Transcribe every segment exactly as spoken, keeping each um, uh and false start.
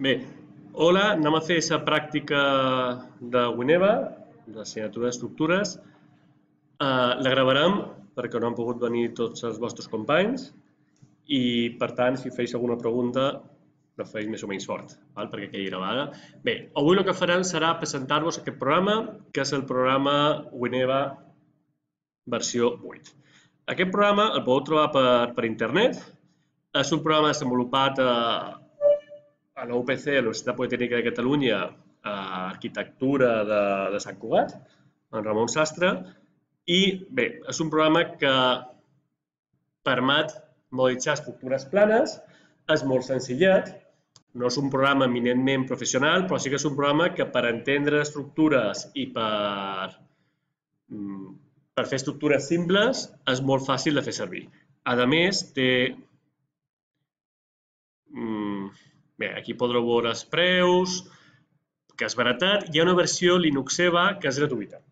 Bé, hola, anem a fer la pràctica de Wineva, de l'assignatura d'estructures. Uh, la gravarem perquè no han pogut venir tots els vostres companys i, per tant, si feis alguna pregunta, la feis més o menys fort, val? Perquè quedi gravada. Bé, avui el que farem serà presentar-vos aquest programa, que és el programa Wineva versió vuit. Aquest programa el podeu trobar per, per internet. És un programa desenvolupat a, a la U P C, a la Universitat Politècnica de Catalunya, a Arquitectura de, de Sant Cugat, en Ramon Sastre, i bé, és un programa que permet modelitzar estructures planes, és molt senzillet, no és un programa eminentment professional, però sí que és un programa que per entendre estructures i per, per fer estructures simples és molt fàcil de fer servir. A més, té... Bé, aquí podreu veure els preus, que és baratat. Hi ha una versió Linuxeva que és gratuïta.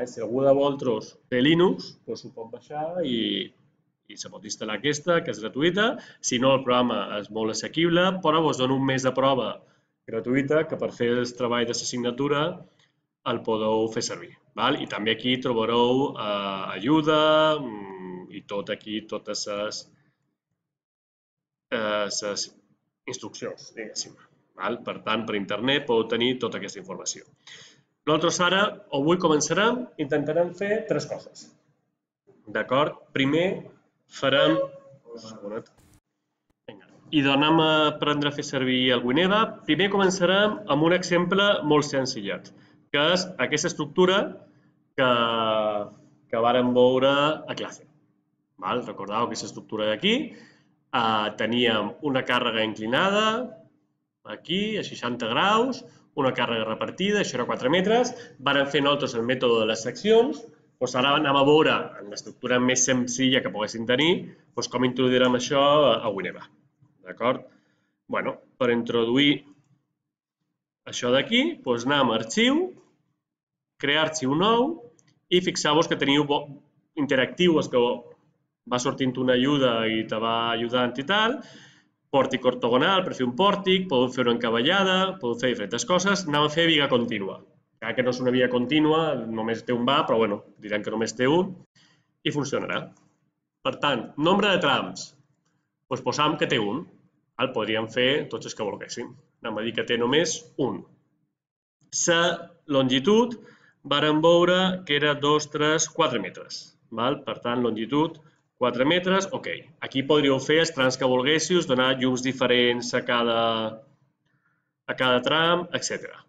Si algú de vosaltres té Linux, doncs ho pot baixar i, i se pot instal·lar aquesta, que és gratuïta. Si no, el programa és molt assequible, però us dono un mes de prova gratuïta que per fer el treball de l'assignatura el podeu fer servir. I també aquí trobareu ajuda i tot aquí, totes les instruccions, diguéssim. Per tant, per internet podeu tenir tota aquesta informació. Nosaltres ara, avui començarem, intentarem fer tres coses. D'acord? Primer farem... I donem a aprendre a fer servir el Wineva. Primer començarem amb un exemple molt senzillet, que és aquesta estructura que, que vàrem veure a classe. Recordeu aquesta estructura d'aquí. Teníem una càrrega inclinada, aquí, a seixanta graus, una càrrega repartida, això era quatre metres. Vàrem fer nosaltres el mètode de les seccions. Ara anem a veure, en l'estructura més senzilla que poguéssim tenir, com introduirem això a Wineva. D'acord? Bé, per introduir això d'aquí, anem a arxiu, crear arxiu nou i fixeu-vos que teniu interactiu, és que va sortint una ajuda i te va ajudant i tal, pòrtic ortogonal per fer un pòrtic, podeu fer una encavallada, podeu fer diferents coses. Anem a fer viga contínua. Encara que no és una viga contínua, només té un va, però bueno, direm que només té un i funcionarà. Per tant, nombre de trams, doncs posam que té un. Podríem fer tots els que volguéssim. Anem a dir que té només un. La longitud, vàrem veure que era dos, tres, quatre metres. Per tant, longitud quatre metres, ok. Aquí podríeu fer els trams que volguéssiu, donar llums diferents a cada, a cada tram, etcètera.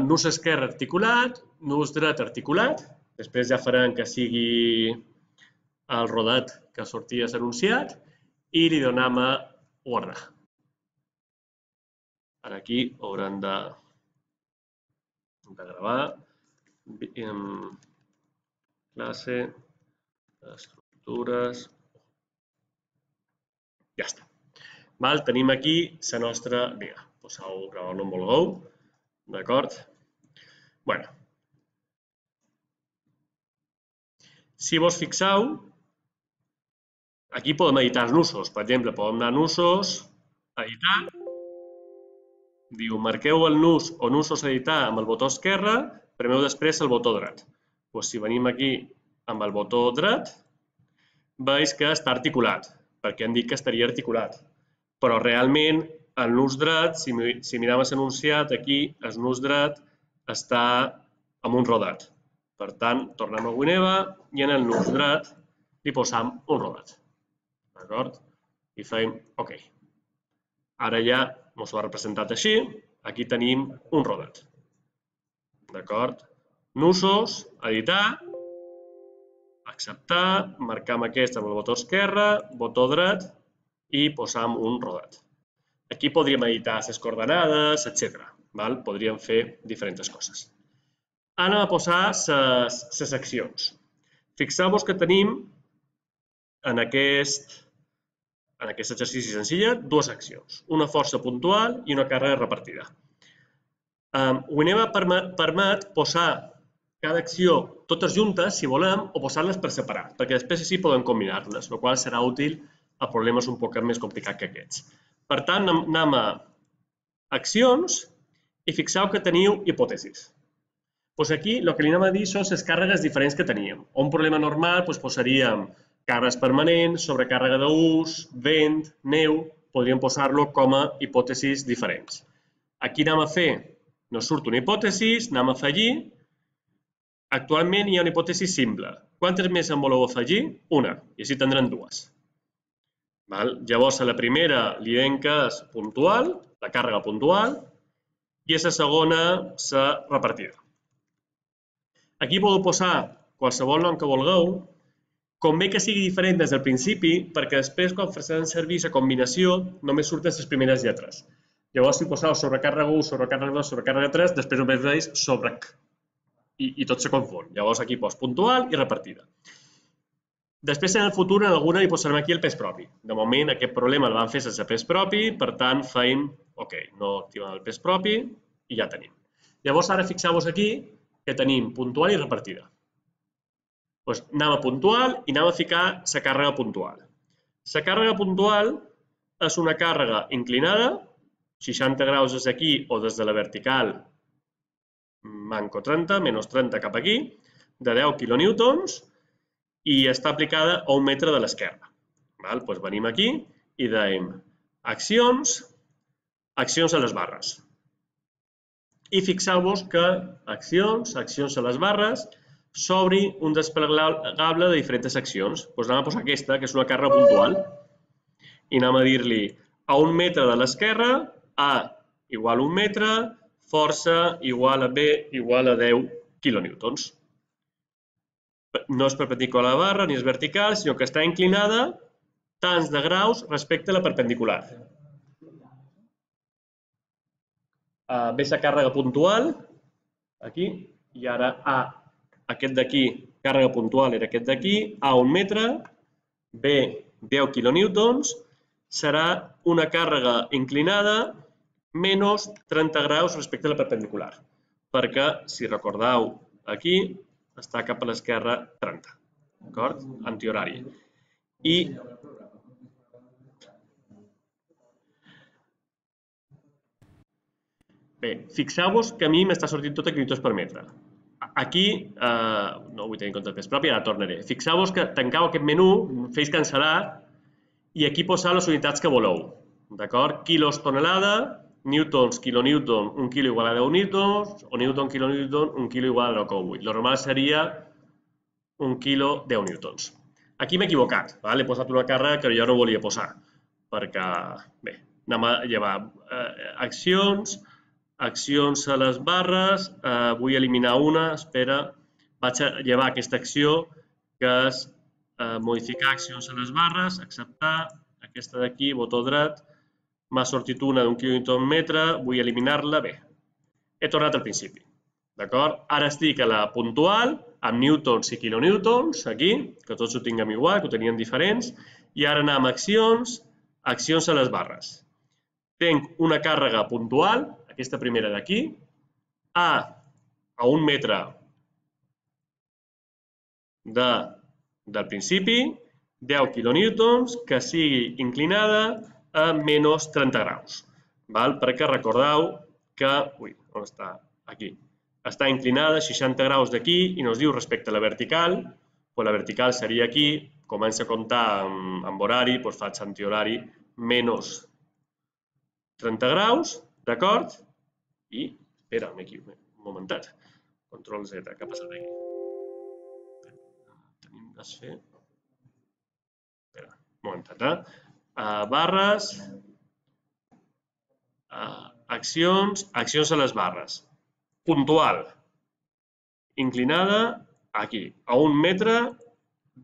Nus esquerre articulat, nus dret articulat, després ja farem que sigui el rodet que sortia anunciat i li donem a guardar. Ara aquí haurem de, de gravar. Classe, estructures... Ja està. Tenim aquí la nostra viga. Poseu gravar on vulgueu. D'acord? Bé. Si vos fixeu, aquí podem editar els nusos. Per exemple, podem anar a nusos, editar. Diu, marqueu el nus o nusos a editar amb el botó esquerre, premeu després el botó dret. Si venim aquí amb el botó dret, veus que està articulat, perquè han dit que estaria articulat. Però realment el nus dret, si mirem l'enunciat, aquí el nus dret està amb un rodet. Per tant, tornem a Wineva i en el nus dret li posam un rodet. D'acord? I fem OK. Ara ja ens ho ha representat així. Aquí tenim un rodet. D'acord? Nusos, editar, acceptar, marcam aquest amb el botó esquerre, botó dret i posam un rodet. Aquí podríem editar les coordenades, etcètera. Podríem fer diferents coses. Anem a posar les seccions. Fixeu-vos que tenim en aquest en aquest exercici senzill dues seccions, una força puntual i una càrrega repartida. Wineva permet posar cada acció totes juntes, si volem, o posar-les per separat, perquè després així podem combinar-les, el qual serà útil a problemes un poc més complicats que aquests. Per tant, anem a accions, i fixeu que teniu hipòtesis. Doncs aquí el que li anem a dir són les càrregues diferents que teníem. Un problema normal doncs, posaríem càrregues permanents, sobrecàrrega d'ús, vent, neu, podríem posar-lo com a hipòtesis diferents. Aquí anem a fer, nos surt una hipòtesi, anem a afegir. Actualment hi ha una hipòtesi simple. Quantes més en voleu afegir? Una, i així tindrem dues. Val? Llavors, a la primera li diem que és puntual, la càrrega puntual, i a la segona, la repartida. Aquí podeu posar qualsevol nom que vulgueu. Convé que sigui diferent des del principi, perquè després, quan farem servir la combinació, només surten les primeres lletres. Llavors, si poseu sobrecàrrega u, sobrecàrrega dos, sobrecàrrega tres, després només veus sobrec. I, i tot se confon. Llavors, aquí pos puntual i repartida. Després, en el futur, en alguna hi posarem aquí el pes propi. De moment, aquest problema el vam fer sense pes propi, per tant, feim, ok, no activem el pes propi i ja tenim. Llavors, ara fixeu-vos aquí que tenim puntual i repartida. Doncs anem a puntual i anem a ficar la càrrega puntual. La càrrega puntual és una càrrega inclinada, seixanta graus des d'aquí o des de la vertical, manco trenta, menys trenta cap aquí, de deu quilonewtons, i està aplicada a un metre de l'esquerra. Doncs venim aquí i dèiem accions, accions a les barres. I fixeu-vos que accions, accions a les barres, s'obri un desplegable de diferents accions. Doncs anem a posar aquesta, que és una càrrega puntual, i anem a dir-li a un metre de l'esquerra, A igual a un metre, força igual a B igual a deu quilonewtons. No és perpendicular a la barra ni és vertical, sinó que està inclinada tants de graus respecte a la perpendicular. Ve la càrrega puntual, aquí, i ara A, aquest d'aquí, càrrega puntual era aquest d'aquí, A un metre, B deu quilonewtons, serà una càrrega inclinada menys trenta graus respecte a la perpendicular, perquè, si recordeu, aquí està cap a l'esquerra trenta, d'acord? Antihorari. I bé, fixeu-vos que a mi m'està sortint tot a quilonewtons per metre. Aquí, no vull tenir en compte el pes propi, ara tornaré. Fixeu-vos que tancau aquest menú, feis cancel·lar, i aquí poseu les unitats que voleu. D'acord? Quilos tonelada, newtons, kilonewton, un quilo igual a deu newtons, o newton, kilonewton, un quilo igual a nou coma vuit. Lo normal seria un quilo, deu newtons. Aquí m'he equivocat, he posat una càrrega que jo no volia posar, perquè, bé, anem a llevar accions, accions a les barres, vull eliminar una, espera, vaig a llevar aquesta acció, que és modificar accions a les barres, acceptar, aquesta d'aquí, botó dret, m'ha sortit una d'un quilonewton metre, vull eliminar-la, bé, he tornat al principi, d'acord? Ara estic a la puntual, amb newtons i kilonewtons, aquí, que tots ho tinguem igual, que ho teníem diferents, i ara anem a accions, accions a les barres. Tenc una càrrega puntual, aquesta primera d'aquí, A a un metre del principi, deu quilonewtons, que sigui inclinada a menys trenta graus. Perquè recordeu que, ui, on està? Aquí. Està inclinada a seixanta graus d'aquí i ens diu respecte a la vertical, la vertical seria aquí, comença a comptar amb horari, doncs faig antihorari, menys trenta graus, d'acord? I, espera, m'he equivocat, un momentet, control Z, què ha passat aquí? Tenim que fer... Espera, un momentet, eh? Barres, accions, accions a les barres. Puntual, inclinada, aquí, a un metre,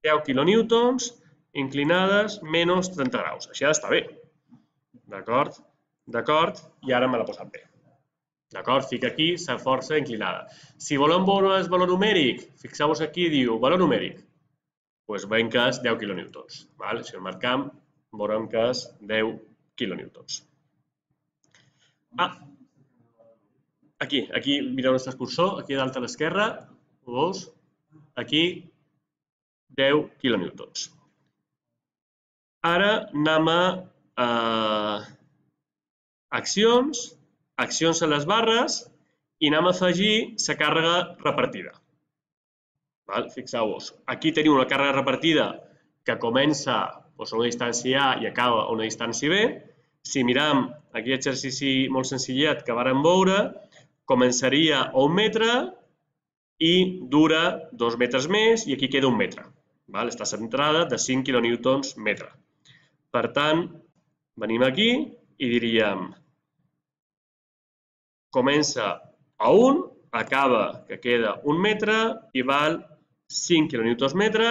deu quilonewtons, inclinades, menys trenta graus. Així ha d'estar bé. D'acord? D'acord? I ara me l'ha posat bé. D'acord? Fica aquí la força inclinada. Si volem veure el valor numèric, fixeu-vos aquí, diu valor numèric. Doncs veiem que és deu quilonewtons. Si el marcam, veurem que és deu quilonewtons. Ah, aquí, aquí mireu el cursor, aquí dalt a l'esquerra, veus? Aquí, deu quilonewtons. Ara anem a accions, accions a les barres i anem a afegir la càrrega repartida. Fixeu-vos, aquí tenim una càrrega repartida que comença a una distància A i acaba a una distància B. Si miram aquest exercici molt senzillet que vàrem veure, començaria a un metre i dura dos metres més i aquí queda un metre. Està centrada de cinc quilonewtons metre. Per tant, venim aquí i diríem comença a un, acaba que queda un metre i val cinc quilonewtons metre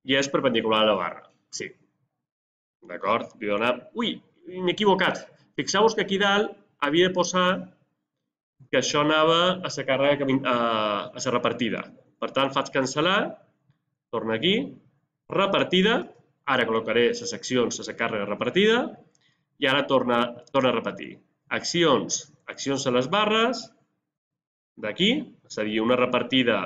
i és perpendicular a la barra. Sí. D'acord? Ui, m'he equivocat. Fixeu-vos que aquí dalt havia de posar que això anava a la càrrega, a la repartida. Per tant, faig cancel·lar, torno aquí, repartida, ara col·locaré les accions a la càrrega repartida i ara torna a repetir. Accions, accions a les barres, d'aquí, és a dir, una repartida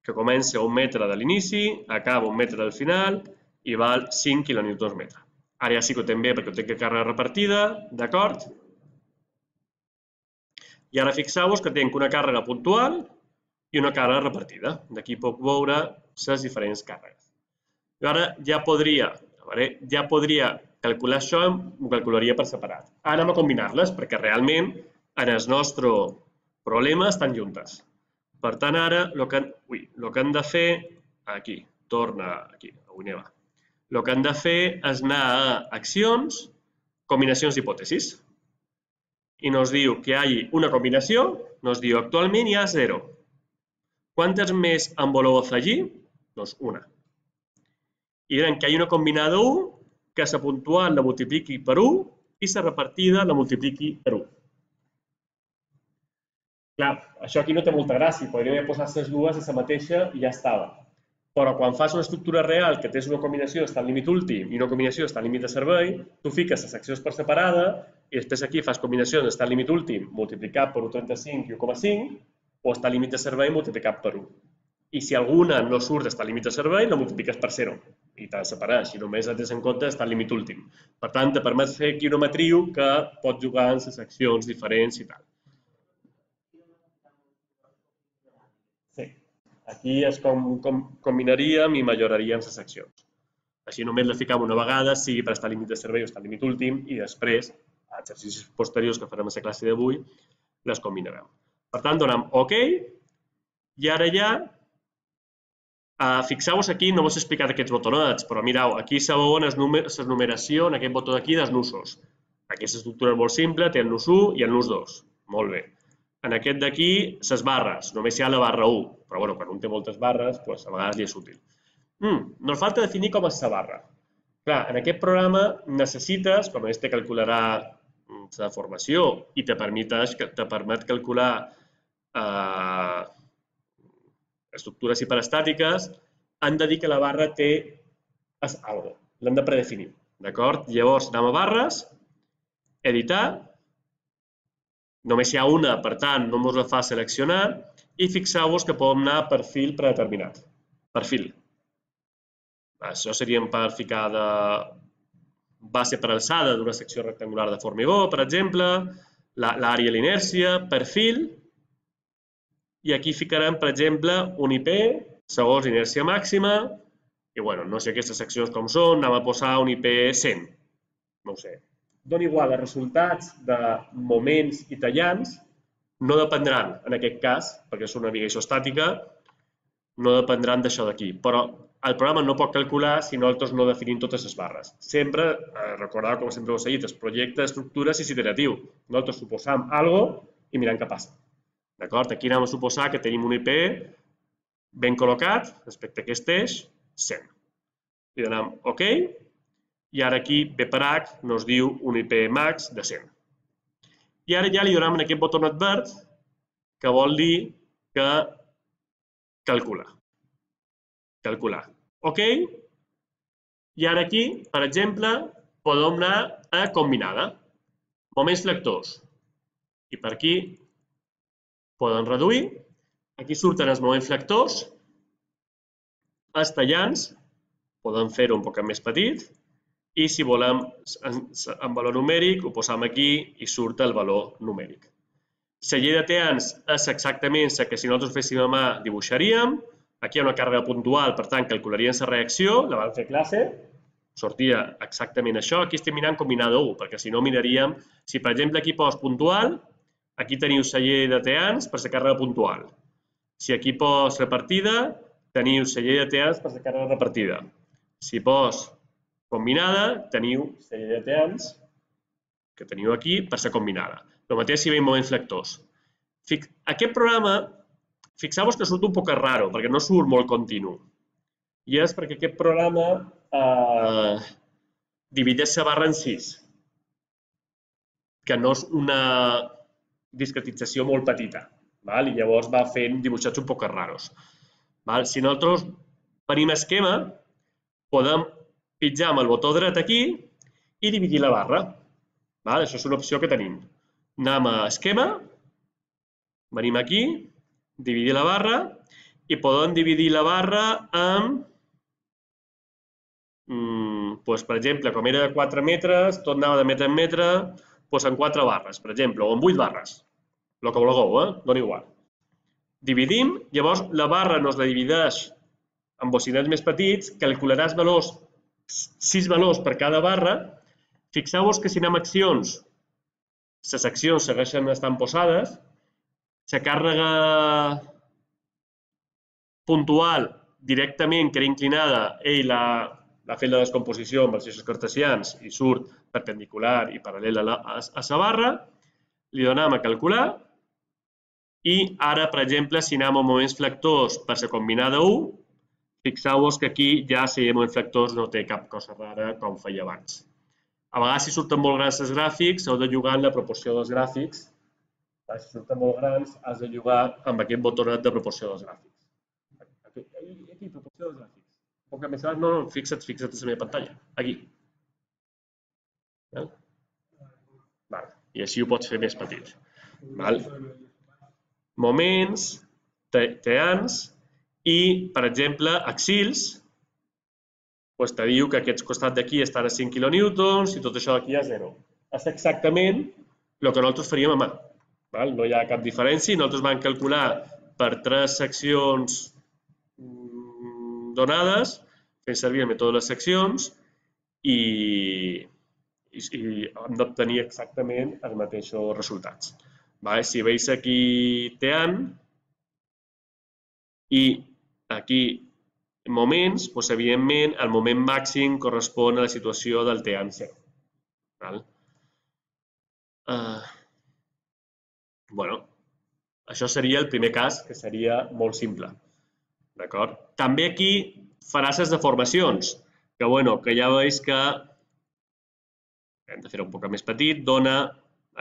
que comença a un metre de l'inici, acaba a un metre del final i val cinc quilonewtons metre. Ara ja sí que ho tenc bé perquè ho tenc a càrrega repartida, d'acord? I ara fixeu-vos que tinc una càrrega puntual i una càrrega repartida. D'aquí puc veure les diferents càrregues. I ara ja podria, ja podria calcular això, ho calcularia per separat. Ara anem a combinar-les perquè realment en el nostre problema estan juntes. Per tant, ara el que hem de fer, aquí, torna aquí, avui n'hi va. El que hem de fer és anar a accions, combinacions d'hipòtesis. I nos diu que hi hagi una combinació, nos diu actualment hi ha zero. Quantes més en voleu afegir? Doncs una. I direm que hi ha una combinada u, que la puntual la multipliqui per u i la repartida la multipliqui per u. Clar, això aquí no té molta gràcia, podríem haver posat les dues a la mateixa i ja estava. Però quan fas una estructura real que tens una combinació d'estat límit últim i una combinació d'estat límit de servei, tu fiques les accions per separada i després aquí fas combinacions d'estat límit últim multiplicat per u coma trenta-cinc i u coma cinc o estat límit de servei multiplicat per u. I si alguna no surt d'estat límit de servei, la multipliques per zero i t'ha de separar, així només et tens en compte d'estat límit últim. Per tant, te permet fer aquí una matriu que pot jugar amb les accions diferents i tal. Sí. Aquí és com combinaríem i milloraríem les accions. Així només les ficam una vegada, sigui per estar límit de servei o estar límit últim, i després, a exercicis posteriors que farem a la classe d'avui, les combinarem. Per tant, donem OK, i ara ja, fixeu-vos aquí, no vos he explicat aquests botonets, però mireu, aquí sabeu la numeració en aquest botó d'aquí dels nusos. Aquesta estructura és molt simple, té el nus u i el nus dos. Molt bé. En aquest d'aquí, les barres, només hi ha la barra u, però quan un té moltes barres, a vegades li és útil. Ens falta definir com és la barra. Clar, en aquest programa necessites, com este calcularà la deformació i te permet calcular estructures hiperestàtiques, han de dir que la barra té alguna cosa, l'hem de predefinir. D'acord? Llavors, anem a barres, editar, només hi ha una, per tant, no ens la fa seleccionar, i fixeu-vos que podem anar a perfil predeterminat. Perfil. Això seria per ficar de base per alçada d'una secció rectangular de formigó, per exemple, l'àrea i l'inèrcia, perfil, i aquí ficarem, per exemple, un I P segons inèrcia màxima, i no sé aquestes seccions com són, anem a posar un I P cent, no ho sé. Dona igual, els resultats de moments i tallants no dependran, en aquest cas, perquè és una navegació estàtica, no dependran d'això d'aquí. Però el programa no pot calcular si nosaltres no definim totes les barres. Sempre, recordeu, com sempre us he dit, el projecte d'estructures és iteratiu. Nosaltres suposam alguna cosa i mirem què passa. D'acord? Aquí anem a suposar que tenim un I P ben col·locat respecte a aquest eix, cent. Li donem OK. I ara aquí, B per H, ens diu un I P max de cent. I ara ja li donem en aquest botonet verd, que vol dir que calcula. Calcular. OK. I ara aquí, per exemple, podem anar a combinada. Moments flectors. I per aquí podem reduir. Aquí surten els moments flectors. Els tallants. Podem fer-ho un poc més petit. i si volem en valor numèric ho posam aquí i surt el valor numèric. La llei de teans és exactament la que si nosaltres féssim a mà dibuixaríem. Aquí hi ha una càrrega puntual, per tant calcularíem la reacció, la vam fer a classe, sortia exactament això. Aquí estem mirant combinada u, perquè si no miraríem, si per exemple aquí pos puntual, aquí teniu la llei de teans per la càrrega puntual. Si aquí pos repartida, teniu la llei de teans per la càrrega repartida. Si pos combinada, teniu la llei de teans que teniu aquí per la combinada. El mateix si veiem moments flectors. Aquest programa, fixeu-vos que surt un poc raro, perquè no surt molt continu. I és perquè aquest programa eh, divideix la barra en sis, que no és una discretització molt petita. Val? I llavors va fent dibuixats un poc raros. Val? Si nosaltres venim a esquema, podem pitjar amb el botó dret aquí i dividir la barra. Val? Això és una opció que tenim. Anem a esquema, venim aquí, dividir la barra i podem dividir la barra amb, doncs, per exemple, com era de quatre metres, tot anava de metre en metre, doncs en quatre barres, per exemple, o en vuit barres. El que vulgueu, eh? Dona igual. Dividim, llavors la barra nos la divideix en bocinets més petits, calcularàs valors, sis valors per cada barra. Fixeu-vos que si anem a accions, les accions segueixen estant posades, la càrrega puntual directament, que era inclinada, ell ha fet la descomposició amb els eixos cartesians i surt perpendicular i paral·lel a la barra, li donem a calcular i ara, per exemple, si anem a moments flectors per la combinada u, fixeu-vos que aquí ja si hi ha moments flectors no té cap cosa rara com feia abans. A vegades, si surten molt grans els gràfics, heu de jugar en la proporció dels gràfics. Si surten molt grans, has de jugar amb aquest botonet de proporció dels gràfics. Aquí, proporció dels gràfics. Un poc més gran, no, no, fixa't, fixa't en la meva pantalla. Aquí. I així ho pots fer més petit. Moments, teans i, per exemple, axils, doncs te diu que aquest costat d'aquí estan a cinc quilonewtons i tot això d'aquí a zero. És exactament el que nosaltres faríem a mà. No hi ha cap diferència. Nosaltres vam calcular per tres seccions donades, fent servir el mètode de les seccions, i hem d'obtenir exactament els mateixos resultats. Si veus aquí teant i aquí moments, doncs, evidentment, el moment màxim correspon a la situació del teant zero. Bueno, això seria el primer cas, que seria molt simple. D'acord? També aquí faràs les deformacions, que, bueno, que ja veus que hem de fer-ho un poc més petit, dona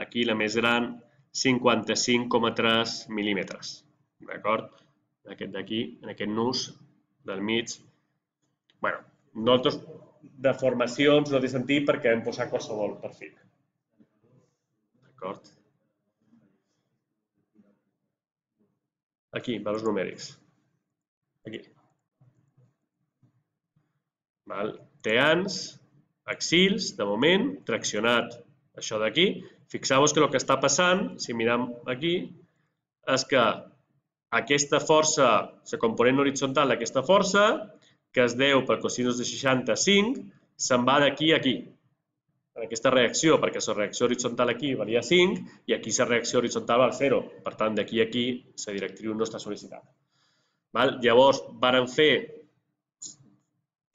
aquí la més gran cinquanta-cinc coma tres mil·límetres. D'acord? Aquest d'aquí, en aquest nus del mig. Bé, nosaltres deformacions no té sentit perquè hem posat qualsevol perfil. D'acord? Aquí, valors numèrics. Aquí. Teans, axils, de moment, traccionat això d'aquí. Fixeu-vos que el que està passant, si mirem aquí, és que aquesta força, la component horitzontal d'aquesta força, que es deu per cosinus de seixanta-cinc, se'n va d'aquí a aquí, en aquesta reacció, perquè la reacció horitzontal aquí valia cinc i aquí la reacció horitzontal val zero. Per tant, d'aquí a aquí la directriu no està sol·licitada. Llavors, vàrem fer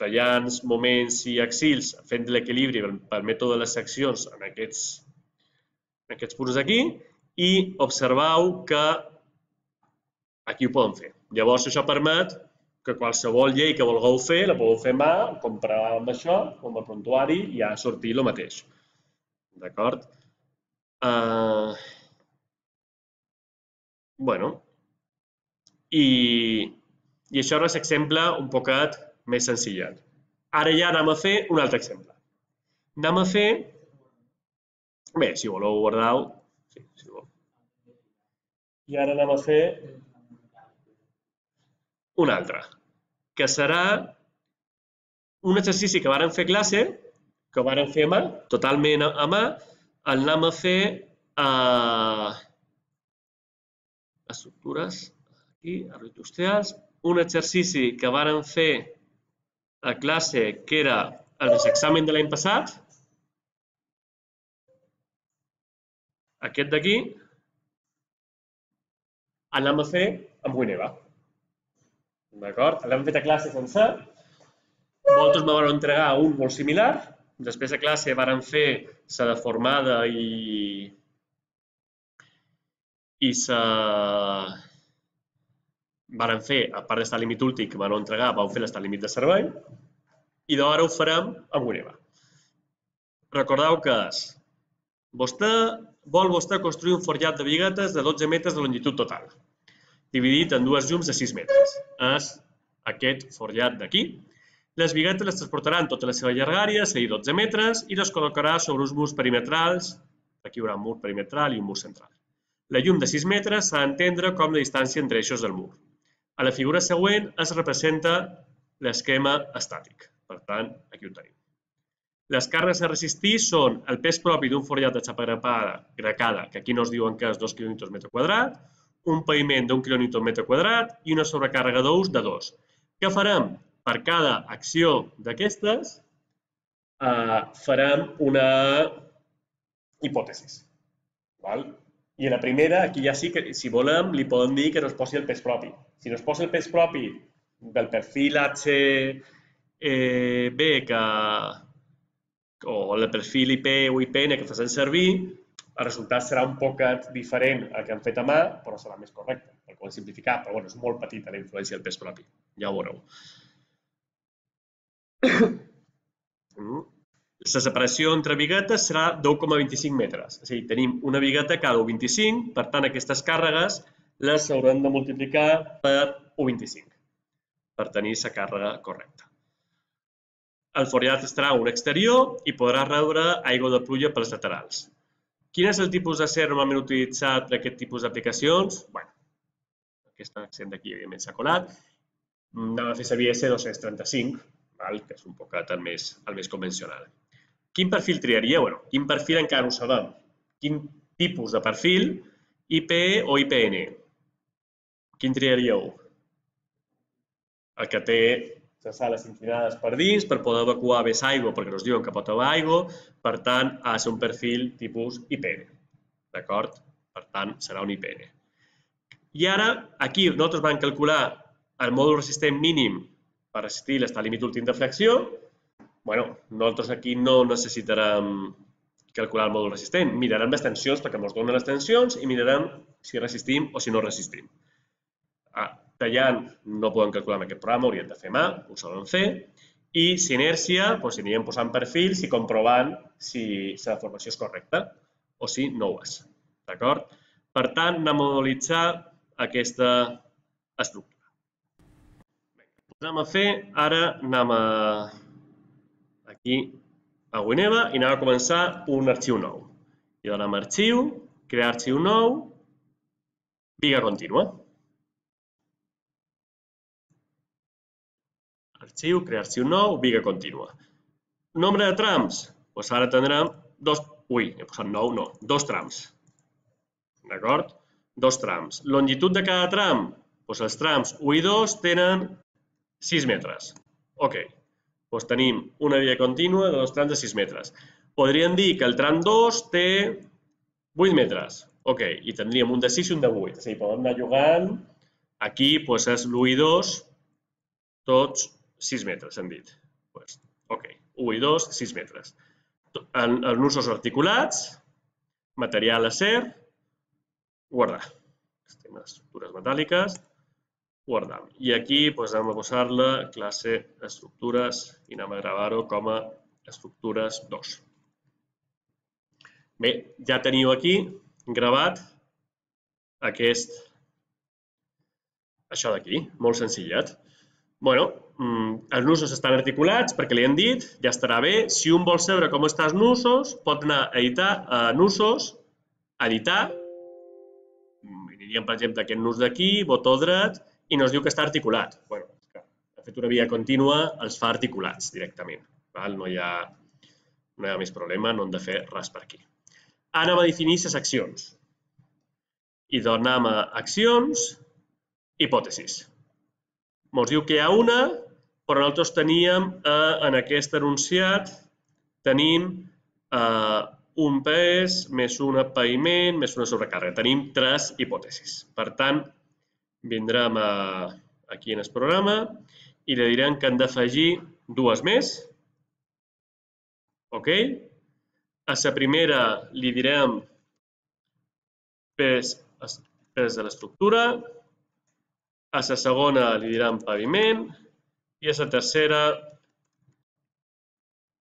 tallants, moments i axils fent l'equilibri pel mètode de les seccions en aquests punts d'aquí i observeu que aquí ho podem fer. Llavors, això permet que qualsevol llei que vulgueu fer, la podeu fer a mà, comparar amb això, amb el prontuari, i ja sortir el mateix. D'acord? Bueno, i això era l'exemple un poquet més senzillat. Ara ja anem a fer un altre exemple. Anem a fer... Bé, si voleu guardar-ho. I ara anem a fer un altre, que serà un exercici que vàrem fer a classe, que ho vàrem fer a mà, totalment a mà, el anem a fer a estructures, aquí, industrials, un exercici que vàrem fer a classe que era el examen de l'any passat, aquest d'aquí, el anem a fer amb Wineva. D'acord? L'hem fet a classe sencer. Vosaltres me vau entregar un molt similar. Després a classe vàrem fer la deformada i i la... vàrem fer, a part d'estar límit últim que m'han entregar, vau fer l'estat límit de servei i d'ara ho farem amb Wineva. Recordeu que és, vostè vol vostè construir un forjat de biguetes de dotze metres de longitud total, dividit en dues llums de sis metres. És aquest forjat d'aquí. Les biguetes les transportaran tota la seva llargària, és a dir, dotze metres, i les col·locarà sobre uns murs perimetrals. Aquí hi haurà un mur perimetral i un mur central. La llum de sis metres s'ha d'entendre com la distància entre eixos del mur. A la figura següent es representa l'esquema estàtic. Per tant, aquí ho tenim. Les càrregues a resistir són el pes propi d'un forjat de xapa gracada, que aquí no es diuen que és dos quilonewtons metre quadrat, un paviment d'un quilonewton metre quadrat i una sobrecàrrega d'ous de dos. Què farem? Per cada acció d'aquestes farem una hipòtesi. I a la primera, aquí ja sí que, si volem, li podem dir que no es posi el pes propi. Si no es posa el pes propi del perfil H B o el perfil I P o I P N que facin servir, el resultat serà un poc diferent al que hem fet a mà, però serà més correcte, perquè ho hem simplificat, però és molt petita la influència del pes propi, ja ho veureu. La separació entre biguetes serà d'u coma vint-i-cinc metres, és a dir, tenim una bigueta cada u coma vint-i-cinc, per tant, aquestes càrregues les haurem de multiplicar per u coma vint-i-cinc per tenir la càrrega correcta. El forjat estarà a un exterior i podrà rebre aigua de pluja pels laterals. Quin és el tipus d'acer normalment utilitzat per aquest tipus d'aplicacions? Bé, aquest accent d'aquí, evidentment, s'ha colat. Anem a fer servir S dos-cents trenta-cinc, que és un poc el més convencional. Quin perfil triaríeu? Quin perfil encara no ho sabem. Quin tipus de perfil? I P o I P N? Quin triaríeu? El que té les sales inclinades per dins per poder evacuar més aigua, perquè ens diuen que pot haver aigua, per tant, ha de ser un perfil tipus I P N. D'acord? Per tant, serà un I P N. I ara, aquí, nosaltres vam calcular el mòdul resistent mínim per resistir l'estat límit últim de flexió. Bé, nosaltres aquí no necessitarem calcular el mòdul resistent. Mirarem les tensions perquè ens donen les tensions i mirarem si resistim o si no resistim. Tallant no podem calcular amb aquest programa, hauríem de fer mà, ho sabem fer. I si inèrcia, doncs anirem posant perfils i comprovant si la deformació és correcta o si no ho és. D'acord? Per tant, anem a modelitzar aquesta estructura. Anem a fer, ara anem a aquí a Wineva i anem a començar un arxiu nou. I donem arxiu, crear arxiu nou, biga contínua. Arxiu, crear arxiu nou, biga contínua. Nombre de trams? Doncs ara tindrem dos... Ui, he posat nou, no, dos trams. D'acord? Dos trams. Longitud de cada tram? Doncs els trams u i dos tenen sis metres. Ok. Doncs tenim una biga contínua de dos trams de sis metres. Podríem dir que el tram dos té vuit metres. Ok. I tindríem un de sis i un de vuit. És a dir, podem anar jugant. Aquí és l'u i dos, tots sis metres, hem dit. Ok, u i dos, sis metres. Els nusos articulats, material acer, guardar. Estem a estructures metàl·liques, guardam. I aquí anem a posar-la classe estructures i anem a gravar-ho com a estructures dos. Bé, ja teniu aquí gravat aquest, això d'aquí, molt senzillet. Bé, els nusos estan articulats perquè li hem dit, ja estarà bé. Si un vol saber com estan els nusos, pot anar a editar a nusos, editar, aniríem, per exemple, aquest nus d'aquí, botó dret, i ens diu que està articulat. Bé, ha fet una via contínua, els fa articulats directament. No hi ha no hi ha més problema, no hem de fer res per aquí. Ara anem a definir les accions. I doncs anem a accions, hipòtesis. Ens diu que hi ha una, però nosaltres teníem, eh, en aquest enunciat, tenim eh, un pes més un paviment més una sobrecàrrega. Tenim tres hipòtesis. Per tant, vindrem a, aquí en el programa i li direm que hem d'afegir dues més. Ok? A la primera li direm pes, pes de l'estructura, a la segona li direm paviment i a la tercera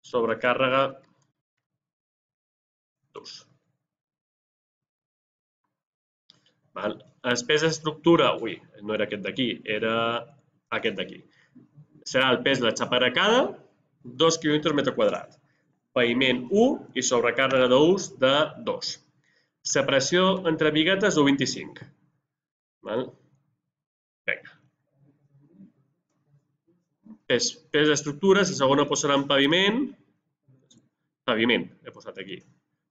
sobrecàrrega d'ús. El pes d'estructura, ui, no era aquest d'aquí, era aquest d'aquí. Serà el pes de la xapa arracada, dos quilonewtons metre quadrat. Paviment u i sobrecàrrega d'ús de dos. La pressió entre biguetes u coma vint-i-cinc. Vinga. Pes d'estructura, la segona posarà en paviment. Paviment, he posat aquí.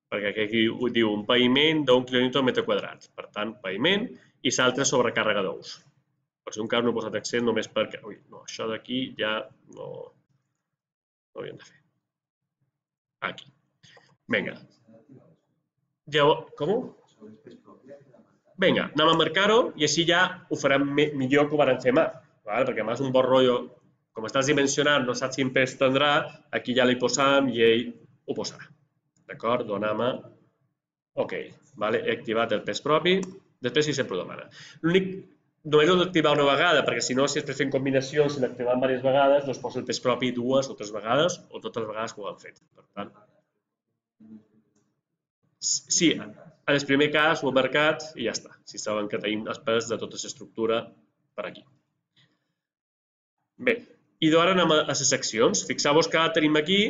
Perquè aquí ho diu un paviment d'un quilonewton metre quadrat. Per tant, paviment i l'altre sobrecàrrega d'ús. Per si un cas no he posat accent només perquè... Ui, no, això d'aquí ja no... No ho havíem de fer. Aquí. Vinga. Com? Vinga, anem a marcar-ho i així ja ho farem millor que ho vam fer mà. Perquè mà és un bon rotllo. Com estàs dimensionant, no saps quin pes tindrà, aquí ja li posam i ell ho posarà. D'acord? Donem a... Ok, he activat el pes propi. Després sí sempre ho demana. L'únic, només ho he d'activar una vegada, perquè si no, si estàs fent combinacions, si l'activem diverses vegades, doncs posa el pes propi dues o tres vegades, o totes les vegades que ho han fet. Per tant, sí, en el primer cas ho he marcat i ja està. Si saben que tenim el pes de tota l'estructura per aquí. Bé, i ara anem a les seccions. Fixeu-vos que ara tenim aquí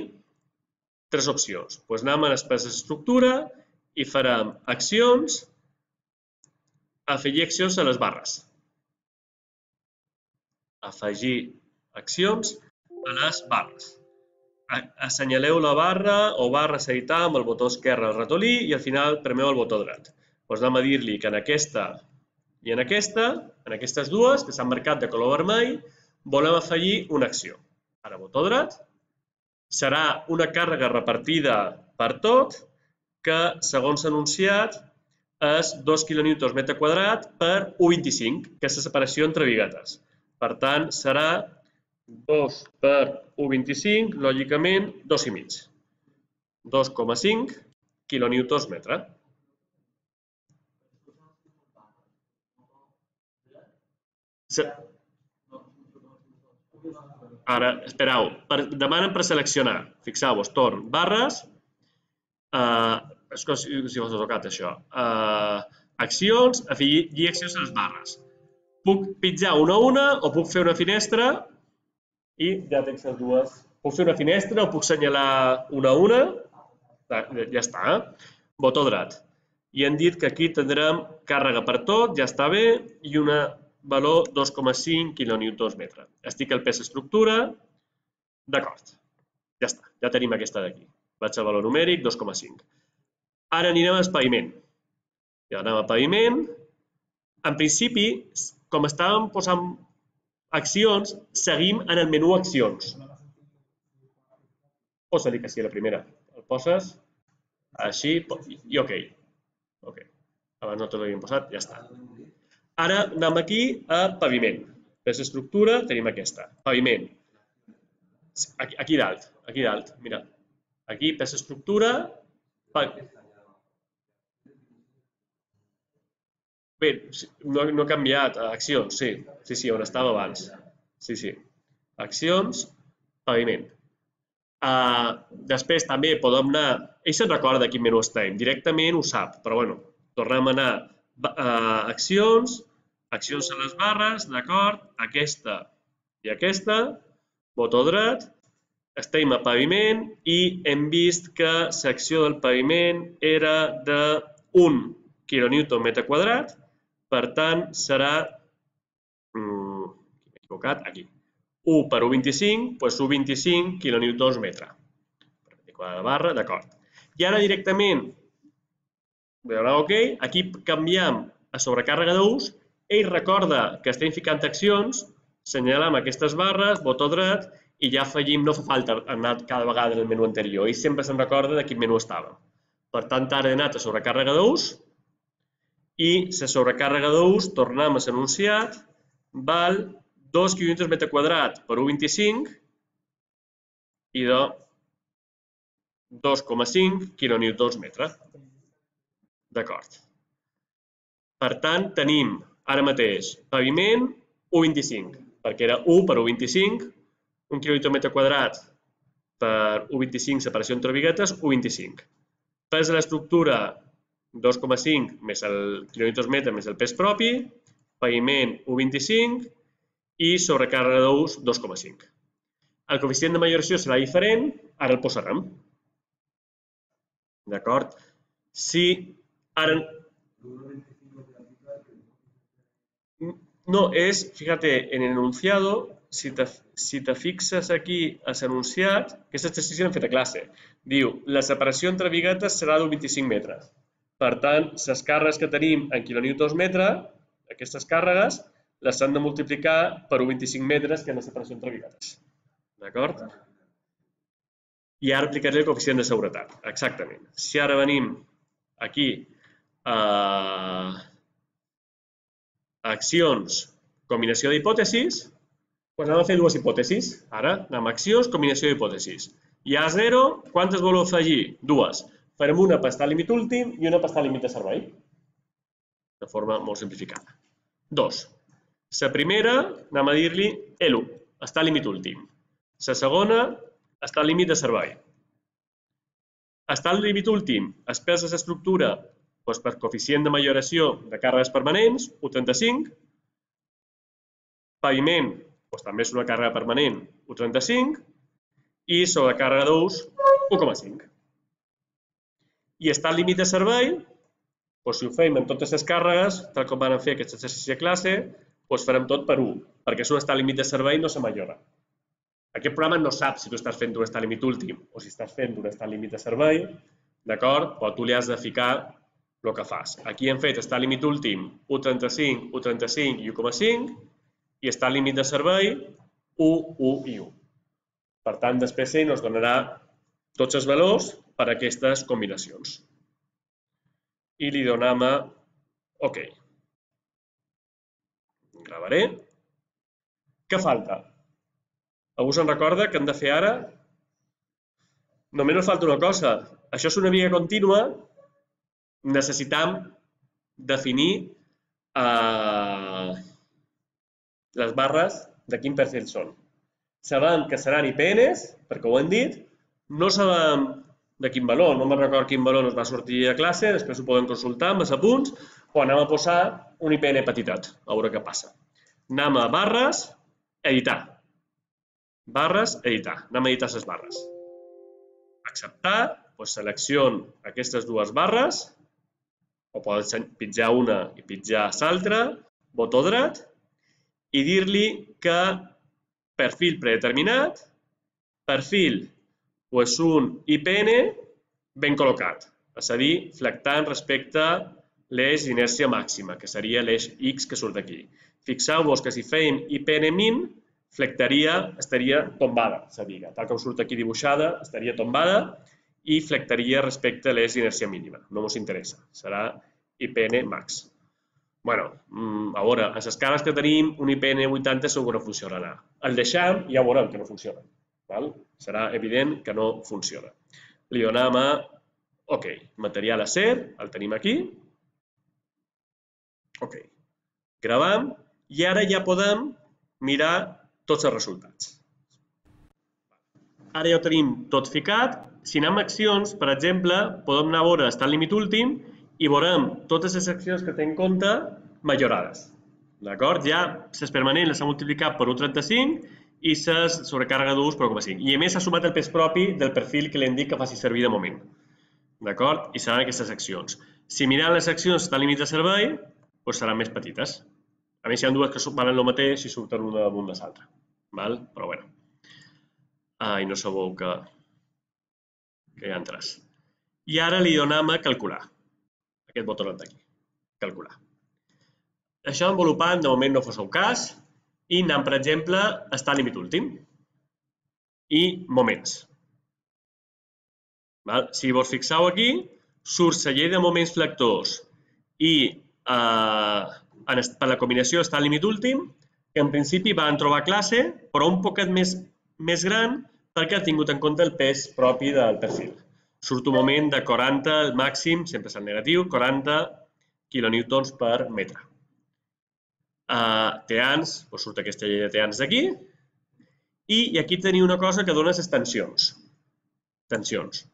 tres opcions. Doncs anem a les peces d'estructura i farem accions, afegir accions a les barres. Afegir accions a les barres. Assenyaleu la barra o barres a editar amb el botó esquerre al ratolí i al final premeu el botó dret. Doncs anem a dir-li que en aquesta i en aquesta, en aquestes dues, que s'han marcat de color vermell, volem afegir una acció. Ara botó dret. Serà una càrrega repartida per tot, que, segons anunciat, és dos quilonewtons metre quadrat per u coma vint-i-cinc, que és la separació entre biguetes. Per tant, serà dos per u coma vint-i-cinc, lògicament, dos i mig. dos coma cinc quilonewtons metre. Ara, espereu, demanen per seleccionar. Fixeu-vos, torn, barres, és com si fos tocat això, accions, afegir accions a les barres. Puc pitjar una a una o puc fer una finestra i ja tens les dues. Puc fer una finestra o puc assenyalar una a una, ja està. Botó dret. I hem dit que aquí tindrem càrrega per tot, ja està bé, i una valor dos coma cinc quilonewtons metre. Estic al pes estructura, d'acord, ja està, ja tenim aquesta d'aquí. Vaig al valor numèric, dos coma cinc. Ara anirem al paviment. Ja anem al paviment. En principi, com estàvem posant accions, seguim en el menú accions. Posa-li que sí a la primera. El poses, així, i ok. Ok, abans no te l'havíem posat, ja està. Ara anem aquí a paviment. Pes estructura, tenim aquesta. Paviment. Aquí dalt, aquí dalt, mira. Aquí, pes estructura. Bé, no he canviat. Accions, sí. Sí, sí, on estava abans. Sí, sí. Accions, paviment. Després també podem anar... Ell se'n recorda de quin menú estem. Directament ho sap, però bueno, tornem a anar a accions, accions a les barres, d'acord, aquesta i aquesta, botó dret, estem a paviment i hem vist que l'acció del paviment era d'un quilonewton metre quadrat, per tant serà, m'he equivocat, aquí, u per u coma vint-i-cinc, doncs u coma vint-i-cinc quilonewtons metre. la barra, d'acord. I ara directament, veurà ok, aquí canviem a sobrecàrrega d'ús, ell recorda que estem ficant accions, senyalem aquestes barres, botó dret, i ja afegim, no fa falta anar cada vegada en el menú anterior, ell sempre se'n recorda de quin menú estava. Per tant, ara he anat a sobrecàrrega d'ús, i la sobrecàrrega d'ús, tornem a l'enunciat, val dos quilòmetres metre quadrat per u coma vint-i-cinc i de dos coma cinc quilonewtons metre. D'acord. Per tant, tenim ara mateix paviment u coma vint-i-cinc, perquè era u per u coma vint-i-cinc, un quilòmetre metre quadrat per u coma vint-i-cinc separació entre biguetes, u coma vint-i-cinc. Pes de l'estructura, dos coma cinc més el quilòmetres metre més el pes propi, paviment u coma vint-i-cinc i sobrecàrrega d'ús dos coma cinc. El coeficient de majoració serà diferent, ara el posarem. D'acord? Si ara... No, és, fíjate, en el enunciado, si te, si te fixes aquí a l'enunciat, aquest exercici l'hem fet a classe, diu, la separació entre biguetes serà d'un vint-i-cinc metres. Per tant, les càrregues que tenim en quilonewtons metre, aquestes càrregues, les hem de multiplicar per un coma vint-i-cinc metres, que és la separació entre biguetes. D'acord? I ara aplicaré el coeficient de seguretat. Exactament. Si ara venim aquí a accions, combinació d'hipòtesis, doncs anem a fer dues hipòtesis. Ara anem a accions, combinació d'hipòtesis. Hi ha zero, quantes voleu afegir? Dues. Farem una per estar al límit últim i una per estar al límit de servei. De forma molt simplificada. Dos. La primera, anem a dir-li L u, està al límit últim. La segona, està al límit de servei. Està al límit últim, es pesa l'estructura per coeficient de majoració de càrregues permanents, u coma trenta-cinc. Paviment, també és una càrrega permanent, u coma trenta-cinc. I sobrecàrrega d'ús, u coma cinc. I està al límit de servei, si ho fem en totes les càrregues, tal com vam fer aquest exercici de classe, doncs farem tot per u, perquè si un està al límit de servei no se majora. Aquest programa no sap si tu estàs fent un està al límit últim o si estàs fent un està al límit de servei, d'acord? Però tu li has de ficar el que fas. Aquí hem fet està al límit últim u coma trenta-cinc, u coma trenta-cinc i u coma cinc i està al límit de servei u, u i u. Per tant, després ell ens donarà tots els valors per a aquestes combinacions. I li donem a OK. Gravaré. Què falta? Algú se'n recorda que hem de fer ara? Només ens falta una cosa. Això és una viga contínua. Necessitam definir eh, les barres de quin perfil són. Sabem que seran I P Ns, perquè ho hem dit. No sabem de quin valor, no me'n recordo quin valor ens va sortir a classe, després ho podem consultar amb els apunts, o anem a posar un I P N petitet, a veure què passa. Anem a barres, editar. Barres, editar. Anem a editar les barres. Acceptar, doncs selecciono aquestes dues barres, o pots pitjar una i pitjar l'altra, botó dret, i dir-li que perfil predeterminat, perfil és un I P N ben col·locat, és a dir, flectant respecte a l'eix d'inèrcia màxima, que seria l'eix X que surt d'aquí. Fixeu-vos que si fèiem I P N min, flectaria, estaria tombada, la viga. Tal com surt aquí dibuixada, estaria tombada i flectaria respecte a l'eix d'inèrcia mínima. No ens interessa, serà I P N max. Bé, a veure, a les cares que tenim, un I P N vuitanta segur que no funcionarà. El deixem i ja veurem que no funciona. Serà evident que no funciona. Li donem a OK. Material acer, el tenim aquí. OK. Gravam i ara ja podem mirar tots els resultats. Ara ja ho tenim tot ficat. Si anem a accions, per exemple, podem anar a veure està al límit últim i veurem totes les accions que té en compte majorades. D'acord? Ja les permanents les ha multiplicat per u coma trenta-cinc i les sobrecàrrega d'ús per u coma cinc. I a més s'ha sumat el pes propi del perfil que li hem dit que faci servir de moment. D'acord? I seran aquestes accions. Si mirem les accions que estan al límit de servei, doncs seran més petites. A més, hi ha dues que valen el mateix i surten una damunt de l'altra. Però bé. I no sabeu que que hi ha tres. I ara li donem a calcular. Aquest botó d'aquí, calcular. Això envolupant, de moment no fos el cas, i anem, per exemple, a estar límit últim i moments. Si vos fixeu aquí, surt la llei de moments flectors i per la combinació està límit últim, que en principi van trobar classe, però un poquet més gran perquè ha tingut en compte el pes propi del perfil. Surt un moment de quaranta, el màxim, sempre és el negatiu, quaranta quilonewtons per metre. Teans, doncs surt aquesta llei de teans d'aquí, i aquí teniu una cosa que dona les tensions. Tensions.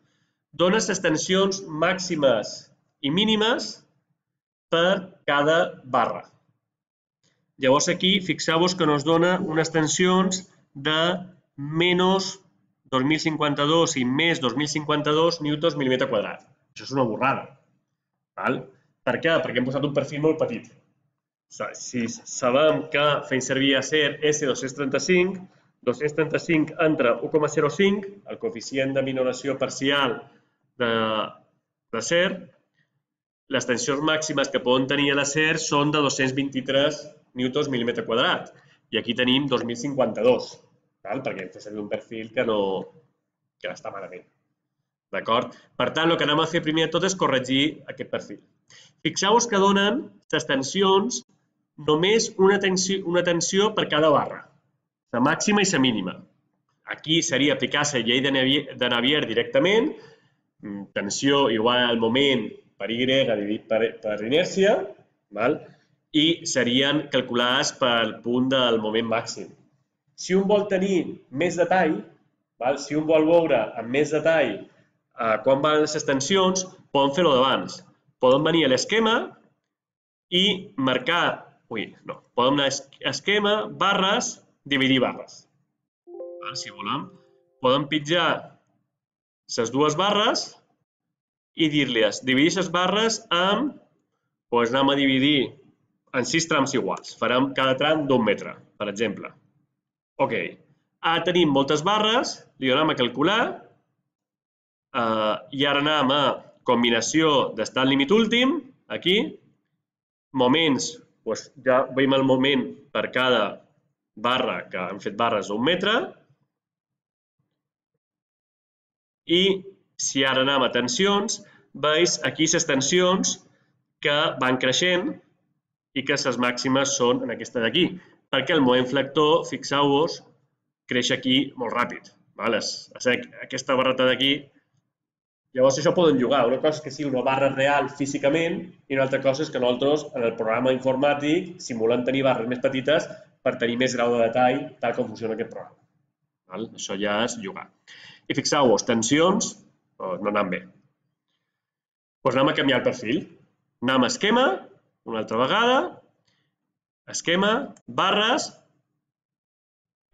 Dona les tensions màximes i mínimes per cada barra. Llavors aquí fixeu-vos que ens dona unes tensions de menys dos mil cinquanta-dos i més dos mil cinquanta-dos newtons mil·límetre quadrat. Això és una borrada. Per què? Perquè hem posat un perfil molt petit. Si sabem que fem servir acer esse dos-cents trenta-cinc, dos-cents trenta-cinc entre u coma zero cinc, el coeficient de minoració parcial d'acer, les tensions màximes que poden tenir l'acer són de dos-cents vint-i-tres newtons mil·límetre quadrat. I aquí tenim dos mil cinquanta-dos, perquè hem fet servir un perfil que no està malament. Per tant, el que anem a fer primer de tot és corregir aquest perfil. Fixeu-vos que donen les tensions només una tensió per cada barra, la màxima i la mínima. Aquí seria aplicar la llei de Navier directament, tensió igual al moment per Y dividit per inèrcia, i serien calculades pel punt del moment màxim. Si un vol tenir més detall, si un vol veure amb més detall quan van les tensions, poden fer-ho d'abans. Poden venir a l'esquema i marcar, ui, no, poden anar a esquema, barres, dividir barres. Si volem, poden pitjar les dues barres i dir-les, dividir les barres amb, doncs anem a dividir en sis trams iguals. Farem cada tram d'un metre, per exemple. Ok, ara tenim moltes barres, li donem a calcular, i ara anem a combinació d'estar al límit últim, aquí, moments, ja veiem el moment per cada barra, que hem fet barres d'un metre, i si ara anem a tensions, veus aquí les tensions que van creixent i que les màximes són en aquesta d'aquí, perquè el moment flector, fixeu-vos, creix aquí molt ràpid. Aquesta barreta d'aquí, llavors això poden jugar. Una cosa és que sigui una barra real físicament i una altra cosa és que nosaltres, en el programa informàtic, simulem tenir barres més petites per tenir més grau de detall tal com funciona aquest programa. Això ja és jugar. I fixeu-vos, tensions no anem bé. Doncs anem a canviar el perfil. Anem a esquema, una altra vegada, esquema, barres,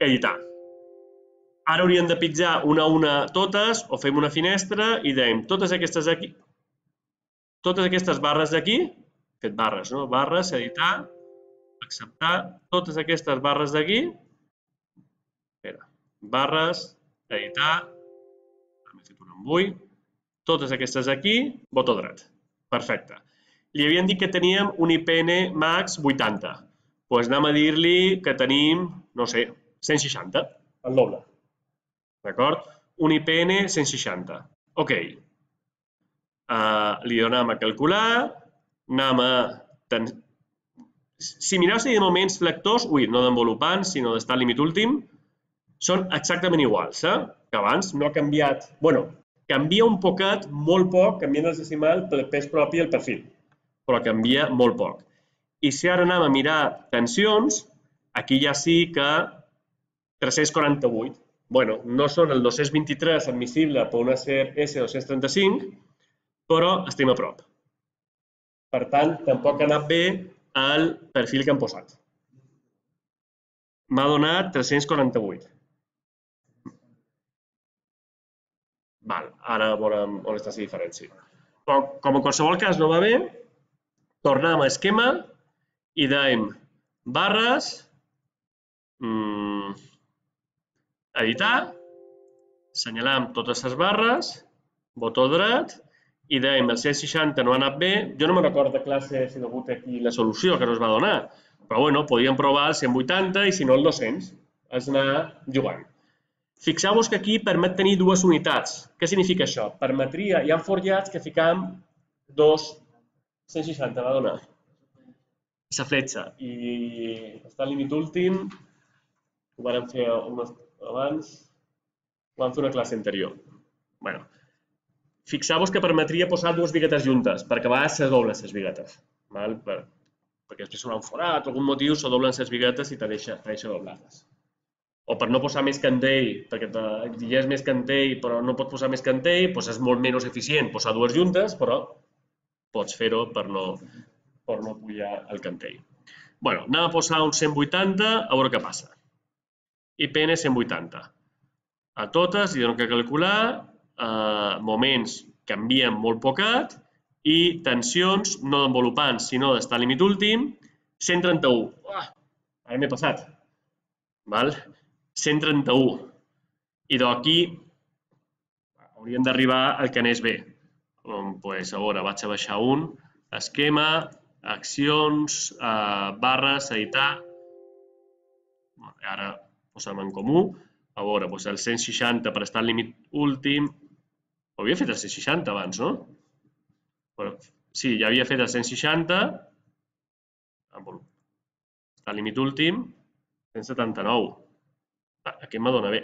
editar. Ara hauríem de pitjar una a una totes o fem una finestra i dèiem totes aquestes aquí, totes aquestes barres d'aquí, fet barres, no? Barres, editar, acceptar, totes aquestes barres d'aquí, barres, editar, hem fet un embull, totes aquestes aquí, botó dret. Perfecte. Li havíem dit que teníem un I P N max vuitanta. Doncs anem a dir-li que tenim, no sé, cent seixanta, el doble. D'acord? Un I P N cent seixanta. Ok. Li donem a calcular, anem a... Si mireu si de moments flectors, ui, no d'envolupant, sinó d'estar al límit últim, són exactament iguals, que abans no ha canviat. Bueno, canvia un poquet, molt poc, canviant el decimal pel pes propi del perfil, però canvia molt poc. I si ara anem a mirar tensions, aquí ja sí que tres-cents quaranta-vuit. Bueno, no són el dos-cents vint-i-tres admissible per un acer esse dos-cents trenta-cinc, però estem a prop. Per tant, tampoc ha anat bé el perfil que hem posat. M'ha donat tres-cents quaranta-vuit. Ara veurem on està la diferència. Però, com en qualsevol cas no va bé, tornem a esquema i dèiem barres, editar, assenyalam totes les barres botó dret, i dèiem el cent seixanta no ha anat bé. Jo no me'n recordo de classe si hi ha hagut aquí la solució que no es va donar, però bueno, podíem provar el cent vuitanta i si no el dos-cents. És anar jugant. Fixeu-vos que aquí permet tenir dues unitats. Què significa això? Permetria, hi ha forjats que ficam dos cent seixanta, va donar. La fletxa. I està al límit últim, ho vam fer abans, ho vam fer una classe anterior. Bueno, fixeu-vos que permetria posar dues biguetes juntes, perquè a vegades se doblen les biguetes. Perquè després s'haurà un forat, algun motiu se doblen les biguetes i te deixa doblar-les. O per no posar més cantell, perquè exigeix més cantell però no pots posar més cantell, doncs és molt menys eficient posar dues juntes, però pots fer-ho per no pujar el cantell. Bé, anem a posar un cent vuitanta, a veure què passa. I P N cent vuitanta. A totes hi dono que calcular, moments canvien molt poquet i tensions no d'envolupants, sinó d'estar al límit últim, cent trenta-u. Ara m'he passat. cent trenta-u. I d'aquí hauríem d'arribar al que anés bé. Doncs, a veure, vaig a baixar un. Esquema, accions, barres, editar. Ara posem en comú. A veure, doncs el cent seixanta per estar al límit últim. Ho havia fet el cent seixanta abans, no? Sí, ja havia fet el cent seixanta. Està al límit últim. cent setanta-nou. Aquest me dona bé.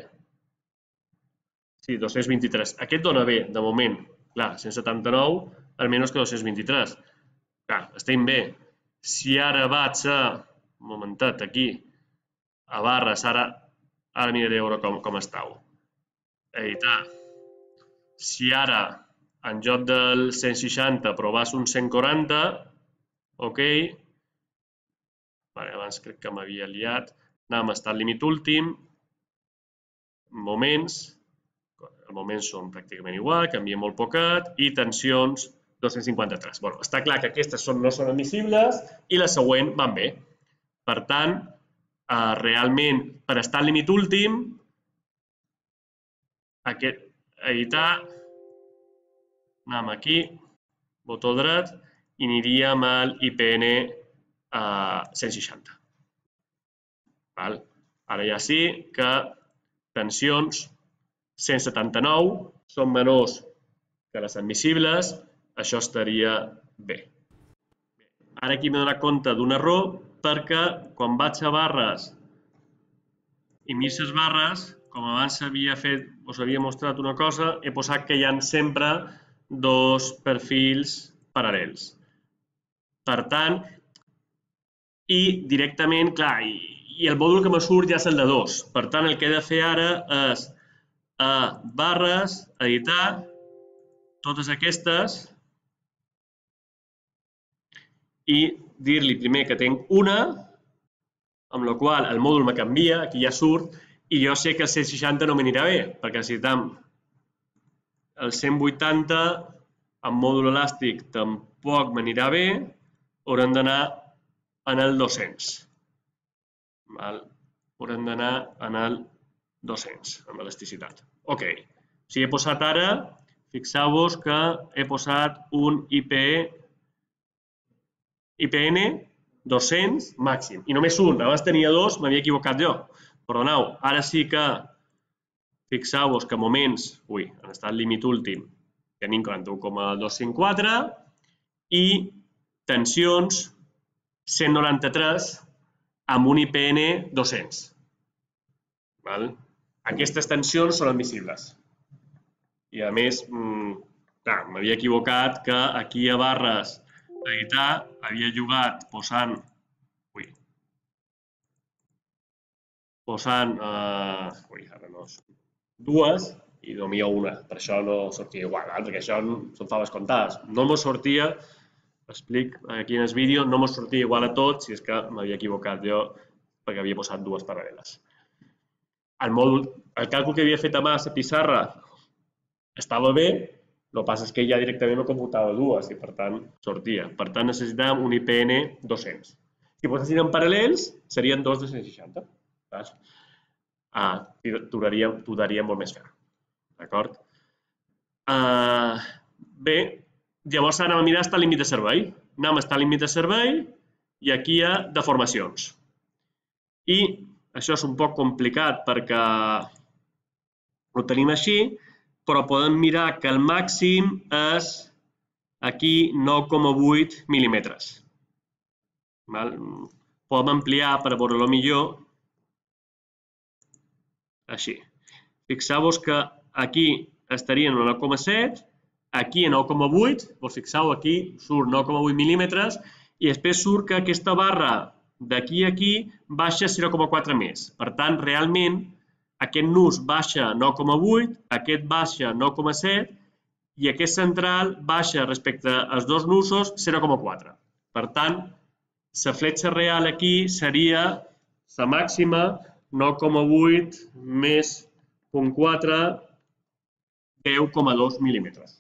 Sí, dos-cents vint-i-tres. Aquest dona bé, de moment. Clar, cent setanta-nou, almenys que dos-cents vint-i-tres. Clar, estem bé. Si ara vaig a... Un momentet, aquí. A barres, ara... Ara miraré a veure com estàu. Editar. Si ara, en lloc del cent seixanta, provàs un cent quaranta, ok. Abans crec que m'havia liat. Anem a estar al límit últim. Moments, els moments són pràcticament igual, canvia molt poquet, i tensions dos-cents cinquanta-tres. Està clar que aquestes no són admissibles i la següent van bé. Per tant, realment, per estar al límit últim, editar, anem aquí, botó dret, i aniríem al I P N cent seixanta. Ara ja sí que tensions cent setanta-nou són menors que les admissibles, això estaria bé. Ara aquí m'he donat compte d'un error perquè quan vaig a barres i miro les barres, com abans us havia mostrat una cosa, he posat que hi ha sempre dos perfils paral·lels. Per tant, i directament, clar, i el mòdul que me surt ja és el de dos. Per tant, el que he de fer ara és a barres, editar, totes aquestes, i dir-li primer que tinc una, amb la qual el mòdul me canvia, aquí ja surt, i jo sé que el cent seixanta no m'anirà bé, perquè necessitam el cent vuitanta amb mòdul elàstic tampoc m'anirà bé, haurem d'anar en el dos-cents. Haurem d'anar en el dos-cents, amb elasticitat. Ok, si he posat ara, fixeu-vos que he posat un I P N dos-cents màxim, i només un, abans tenia dos, m'havia equivocat jo. Perdoneu, ara sí que fixeu-vos que moments, ui, han estat al límit últim, tenim quaranta-u coma dos-cents quatre, i tensions cent noranta-tres amb un I P N dos-cents. Aquestes tensions són admissibles. I a més, m'havia equivocat que aquí a barres editar havia jugat posant ui, posant dues i nomia una. Per això no sortia igual, perquè això són faves comptades. No m'ho sortia, explic aquí en el vídeo, no m'ho sortia igual a tots si és que m'havia equivocat jo perquè havia posat dues paral·leles. El mòdul, el càlcul que havia fet a mà a la pissarra estava bé, el que passa és que ja directament no computava dues i per tant sortia. Per tant necessitàvem un I P N dos-cents. Si posessin en paral·lels serien dos de cent seixanta. T'ho daria molt més fer. D'acord? Uh, bé, llavors anem a mirar estar límit de servei. Anem a estar límit de servei i aquí hi ha deformacions. I això és un poc complicat perquè ho tenim així, però podem mirar que el màxim és aquí nou coma vuit mil·límetres. Podem ampliar per veure-lo millor. Així. Fixeu-vos que aquí estaria en nou coma set, aquí en nou coma vuit, vos fixeu, aquí surt nou coma vuit mil·límetres i després surt que aquesta barra d'aquí a aquí baixa zero coma quatre més. Per tant, realment, aquest nus baixa nou coma vuit, aquest baixa nou coma set i aquest central baixa respecte als dos nusos zero coma quatre. Per tant, la fletxa real aquí seria la màxima nou coma vuit més punt quatre, deu coma dos mil·límetres.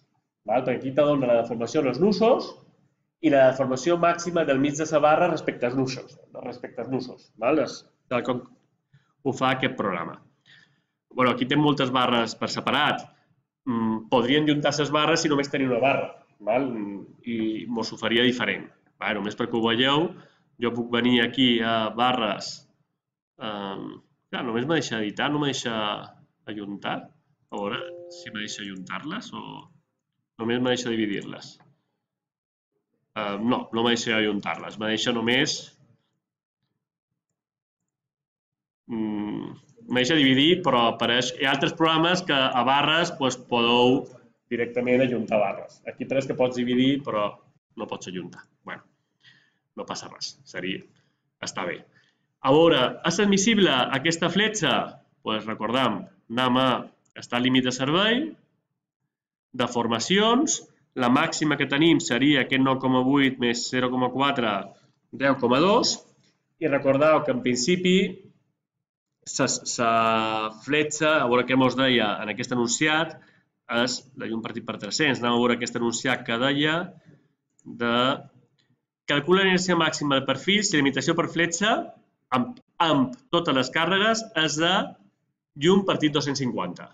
Perquè aquí te dona la deformació dels nusos i la deformació màxima del mig de la barra respecte als nusos. Respecte als nusos. Tal com ho fa aquest programa. Aquí té moltes barres per separat. Podrien juntar les barres si només tenia una barra. I mos ho faria diferent. Només perquè ho veieu, jo puc venir aquí a barres. Clar, només me deixa editar, no me deixa ajuntar. A veure si me deixa ajuntar-les o només me deixa dividir-les. No, no me deixa ajuntar-les. Me deixa només... Me deixa dividir, però apareix... Hi ha altres programes que a barres podeu directament ajuntar barres. Aquí pareix que pots dividir, però no pots ajuntar. Bé, no passa res. Seria... Està bé. A veure, és admissible aquesta fletxa? Doncs recordem, anem a estar al límit de servei, deformacions, la màxima que tenim seria aquest nou coma vuit més zero coma quatre, deu coma dos, i recordeu que en principi la fletxa, a veure què ens deia en aquest enunciat, és la llum partit per tres-cents. Anem a veure aquest enunciat que deia de calcula l'energia màxima del perfil si la limitació per fletxa amb totes les càrregues és de llum partit dos-cents cinquanta.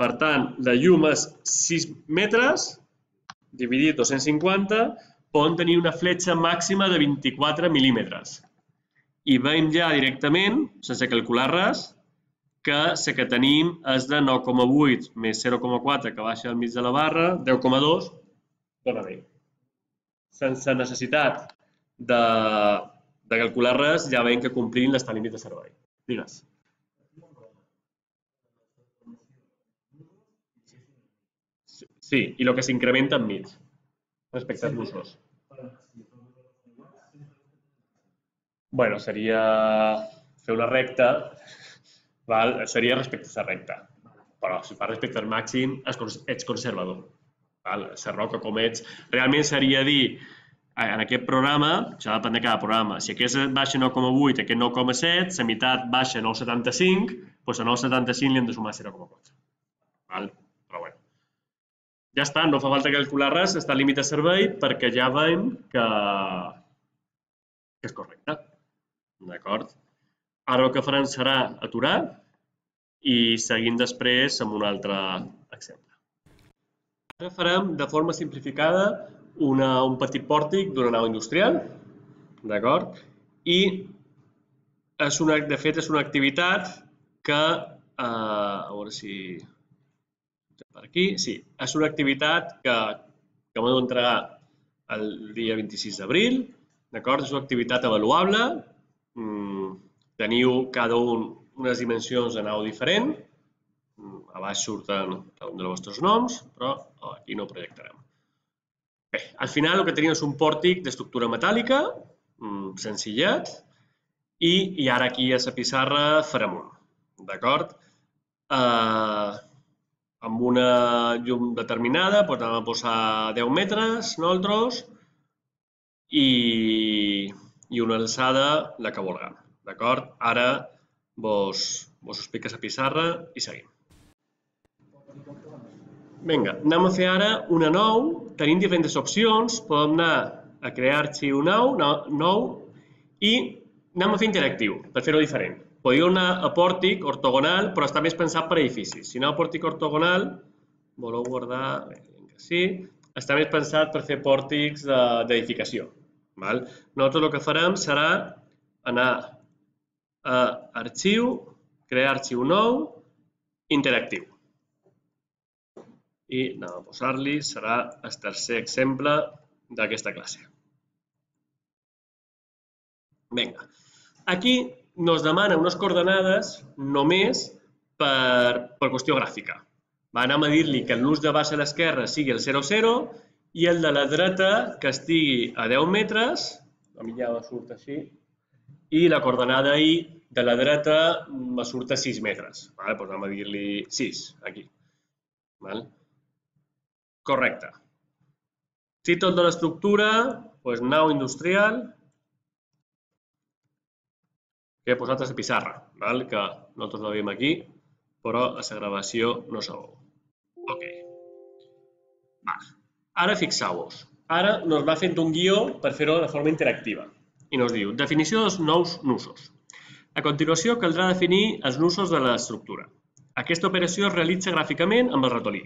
Per tant, la llum és sis metres, dividit dos-cents cinquanta, poden tenir una fletxa màxima de vint-i-quatre mil·límetres. I veiem ja directament, sense calcular res, que la que tenim és de nou coma vuit més zero coma quatre, que baixa al mig de la barra, deu coma dos, dona bé. Sense necessitat de calcular res, ja veiem que complim l'estat límit de servei. Digues. Sí, i el que s'incrementa enmig, respecte als nusos. Bé, seria fer una recta, seria respecte a la recta. Però si fa respecte al màxim, ets conservador. La roca com ets, realment seria dir, en aquest programa, això depèn de cada programa, si aquest baixa nou coma vuit, aquest nou coma set, la meitat baixa nou coma setanta-cinc, doncs a nou coma setanta-cinc li hem de sumar zero coma quatre. Però bé. Ja està, no fa falta calcular res, està al límit de servei perquè ja veiem que és correcte. D'acord? Ara el que farem serà aturar i seguim després amb un altre exemple. Ara farem de forma simplificada un petit pòrtic d'una nau industrial, d'acord? I, de fet, és una activitat que, a veure si... per aquí, sí, és una activitat que m'he d'entregar el dia vint-i-sis d'abril, d'acord? És una activitat avaluable, teniu cada un unes dimensions de nau diferent, a baix surten cada un dels vostres noms, però aquí no ho projectarem. Bé, al final el que tenim és un pòrtic d'estructura metàl·lica, senzillet, i ara aquí a la pissarra farem un, d'acord? Amb una llum determinada, doncs anem a posar deu metres, nosaltres, i una alçada la que vulguem, d'acord? Ara vos explico la pissarra i seguim. Vinga, anem a fer ara una nou. Tenim diferents opcions. Podem anar a crear arxiu nou i anem a fer interactiu, per fer-ho diferent. Podríeu anar a pòrtic ortogonal, però està més pensat per edificis. Si aneu a pòrtic ortogonal, voleu guardar? Bé, que sí. Està més pensat per fer pòrtics d'edificació. Nosaltres el que farem serà anar a arxiu, crear arxiu nou, interactiu. I anem a posar-li, serà el tercer exemple d'aquesta classe. Vinga. Aquí ens demana unes coordenades només per qüestió gràfica. Anem a dir-li que el nus de baixa a l'esquerra sigui el zero zero i el de la dreta que estigui a deu metres, a mi ja me surt així, i la coordenada I de la dreta me surt a sis metres. Doncs anem a dir-li sis, aquí. Correcte. Títol de l'estructura, nau industrial, que he posat a la pissarra, que nosaltres la veiem aquí, però a la gravació no se veu. Ok. Ara fixeu-vos. Ara ens va fent un guió per fer-ho de forma interactiva. I ens diu, definició dels nous nusos. A continuació, caldrà definir els nusos de l'estructura. Aquesta operació es realitza gràficament amb el ratolí.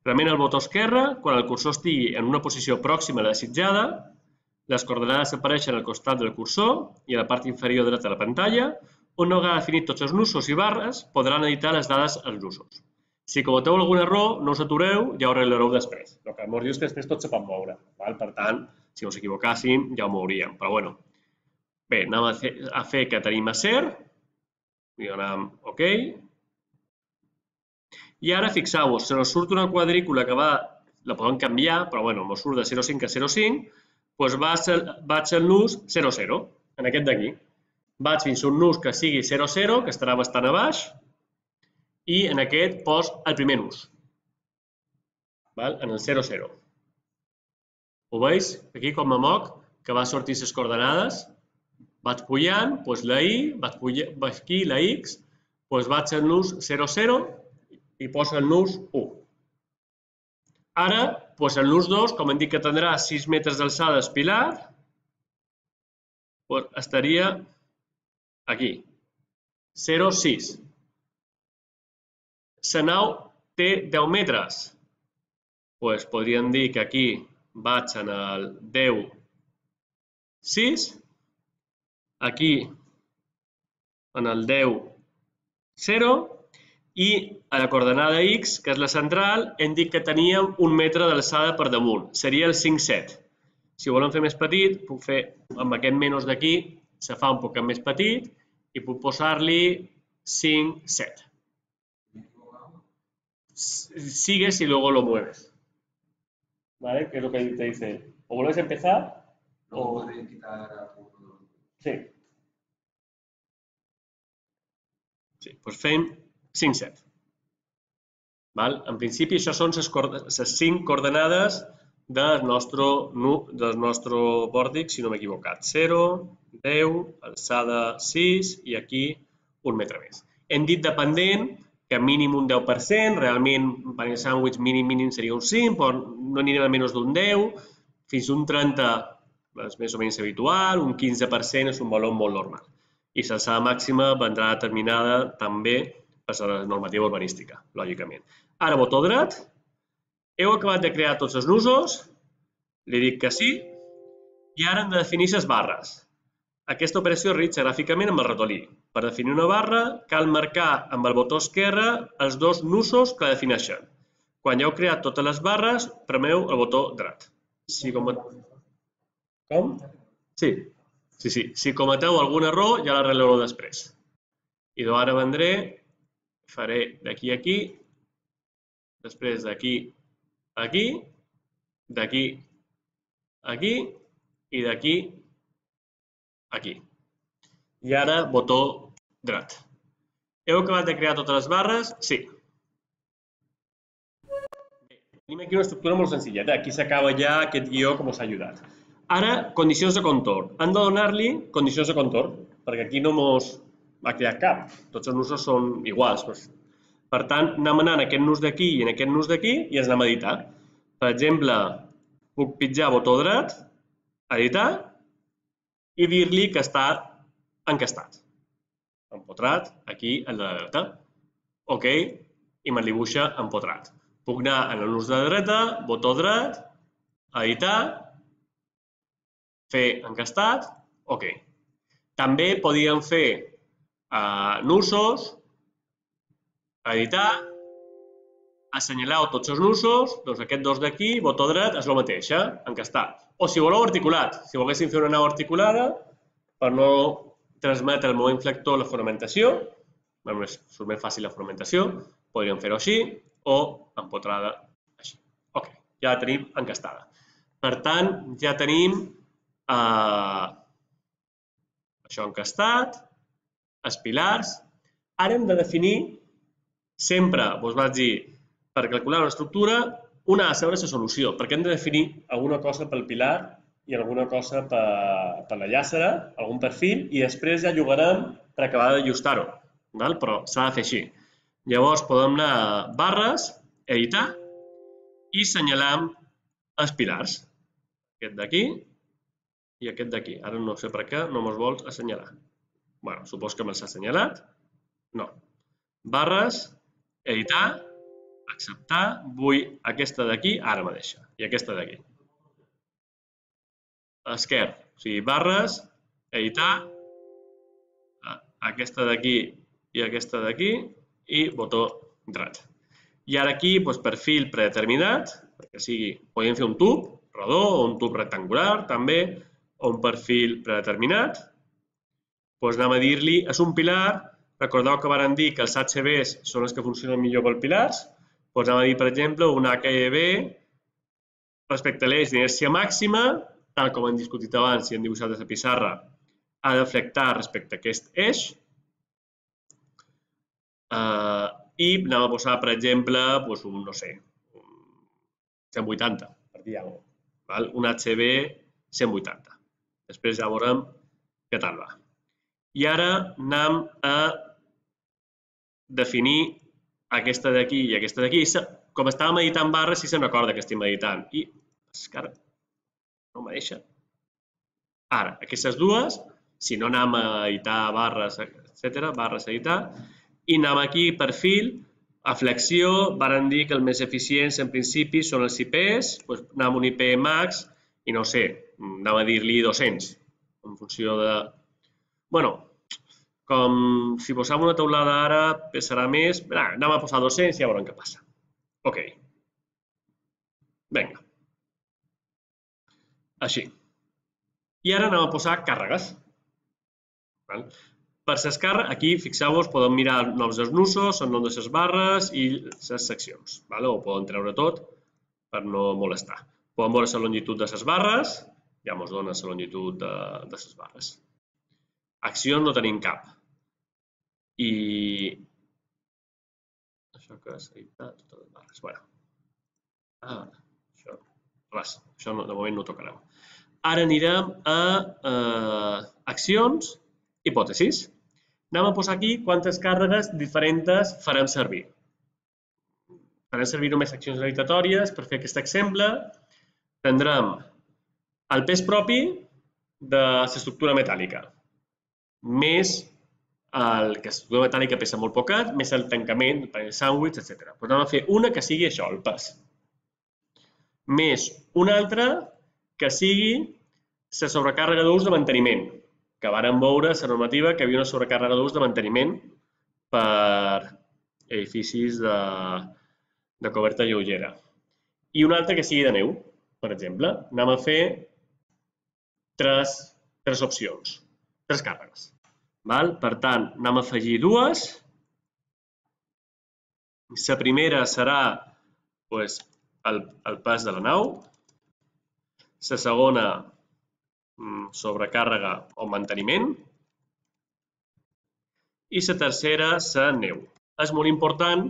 Prement el botó esquerre, quan el cursor estigui en una posició pròxima a la desitjada, les coordenades apareixen al costat del cursor i a la part inferior dreta de la pantalla, on no haurà definit tots els nusos i barres, podran editar les dades als nusos. Si cometeu algun error, no us atureu, ja ho arreglareu després. El que ens diu és que després tot se pot moure. Per tant, si us equivocàssim, ja ho mouríem. Però bueno. Bé, anem a fer que tenim acer. I donem OK. I ara fixeu-vos, se nos surt una quadrícula que va, la podem canviar, però bueno, ens surt de zero coma cinc a zero coma cinc, doncs vaig al nus zero zero, en aquest d'aquí. Vaig fins a un nus que sigui zero zero, que estarà bastant a baix, i en aquest pos el primer nus, en el zero zero. Ho veus? Aquí com me moc, que va sortir les coordenades, vaig pujant, doncs la I, vaig aquí la X, doncs vaig al nus zero zero i poso el nus u. Ara, doncs el nus dos, com hem dit que tindrà sis metres d'alçada el pilar, estaria aquí, zero coma sis. La nau té deu metres. Doncs podríem dir que aquí vaig en el deu coma sis, aquí en el deu coma zero i a la coordenada X, que és la central, hem dit que teníem un metre d'alçada per damunt. Seria el cinc coma set. Si ho volem fer més petit, puc fer amb aquest menys d'aquí, se fa un poc més petit i puc posar-li cinc coma set. Sigues y luego lo mueves. ¿Vale? Que es lo que te dice. O vuelves a empezar. O podrías quitar algunos. Sí. Sí, doncs fem cinc coma set. En principi, això són les cinc coordenades del nostre pòrtic, si no m'he equivocat. zero, deu, alçada sis i aquí un metre més. Hem dit dependent que mínim un deu per cent, realment per el sàndwich mínim mínim seria un cinc, però no anirem a menys d'un deu, fins a un trenta és més o menys habitual, un quinze per cent és un valor molt normal. I l'alçada màxima vendrà determinada també per la normativa urbanística, lògicament. Ara botó dret, heu acabat de crear tots els nusos, li dic que sí, i ara hem de definir les barres. Aquesta operació es realitza gràficament amb el ratolí. Per definir una barra, cal marcar amb el botó esquerre els dos nusos que la defineixen. Quan ja heu creat totes les barres, premeu el botó dret. Com? Sí. Sí, sí. Si cometeu algun error, ja l'arreglareu després. I ara vendré, faré d'aquí a aquí, després d'aquí a aquí, d'aquí a aquí i d'aquí a aquí. I ara botó dret. Heu acabat de crear totes les barres? Sí. Tenim aquí una estructura molt senzilla. Aquí s'acaba ja aquest guió que us ha ajudat. Ara, condicions de contorn. Hem de donar-li condicions de contorn, perquè aquí no ens va crear cap. Tots els nusos són iguals. Per tant, anem anant aquest nus d'aquí i en aquest nus d'aquí i els anem a editar. Per exemple, puc pitjar botó dret, editar, i dir-li que està encastat. Empotrat, aquí, a la dreta. OK, i me'l dibuixa empotrat. Puc anar en el nus de dreta, botó dret, editar, fer encastat, ok. També podíem fer uh, nusos, editar, assenyalar tots els nusos, doncs aquests dos d'aquí, botó dret, és el mateix, eh? Encastat. O si voleu articulat, si volguéssim fer una nau articulada, per no transmetre el meu inflector la fonamentació, surt més fàcil la fonamentació, podríem fer-ho així o empotrada així. Ok, ja la tenim encastada. Per tant, ja tenim eh, això encastat, els pilars. Ara hem de definir, sempre us vaig dir, per calcular una estructura, una ha de saber la solució, perquè hem de definir alguna cosa pel pilar i alguna cosa per, per la llàcera, algun perfil, i després ja jugarem per acabar d'ajustar-ho. Però s'ha de fer així. Llavors podem anar a barres, editar, i assenyalam els pilars. Aquest d'aquí i aquest d'aquí. Ara no sé per què no me'ls vols assenyalar. Bé, supos que me'ls ha assenyalat. No. Barres, editar, acceptar, vull aquesta d'aquí, ara me deixa. I aquesta d'aquí. Esquerra, o sigui, barres, editar, aquesta d'aquí i aquesta d'aquí, i botó dret. I ara aquí, perfil predeterminat, perquè sigui, podem fer un tub rodó o un tub rectangular, també, o un perfil predeterminat. Doncs anem a dir-li, és un pilar, recordeu que vàrem dir que els H Bs són els que funcionen millor per pilars, doncs anem a dir, per exemple, un H E B respecte a l'eix d'inèrcia màxima, tal com hem discutit abans i hem dibuixat a la pissarra, ha de flectar respecte a aquest eix. I anem a posar, per exemple, un, no sé, cent vuitanta, per dir alguna cosa. Un H B cent vuitanta. Després ja veurem què tal va. I ara anem a definir aquesta d'aquí i aquesta d'aquí. Com estàvem editant barres, sí se'n recorda que estem editant. I és que ara no me deixa. Ara, aquestes dues, si no anem a editar barres, etcètera, barres a editar, i anem aquí, perfil, a flexió, vàrem dir que els més eficients en principi són els I Ps, doncs anem a un I P max i no sé, anem a dir-li dos-cents, en funció de... Bueno, com si posem una teulada ara pesarà més, anem a posar dos-cents i ja veurem què passa. Ok. Vinga. Així. I ara anem a posar càrregues. Per les càrregues, aquí, fixeu-vos, podem mirar els noms dels nusos, el nom de les barres i les seccions. O podem treure tot per no molestar. Podem veure la longitud de les barres, ja ens dona la longitud de les barres. Accions no tenim cap. I... Això que és editar totes les barres. Bé. Ah, això... Res, això de moment no ho tocarem. Ara anirem a accions, hipòtesis. Anem a posar aquí quantes càrregues diferents farem servir. Farem servir només accions aleatòries. Per fer aquest exemple, tindrem el pes propi de l'estructura metàl·lica, més el que l'estructura metàl·lica pesa molt poquet, més el tancament, el panell sàndwich, etcètera. Doncs anem a fer una que sigui això, el pes. Més una altra que sigui la sobrecàrrega d'ús de manteniment, que vàrem veure la normativa que hi havia una sobrecàrrega d'ús de manteniment per edificis de coberta lleugera. I una altra que sigui de neu, per exemple. Anem a fer tres opcions, tres càrregues. Per tant, anem a afegir dues. La primera serà el pes de la nau. La segona, sobrecàrrega o manteniment. I la tercera, la neu. És molt important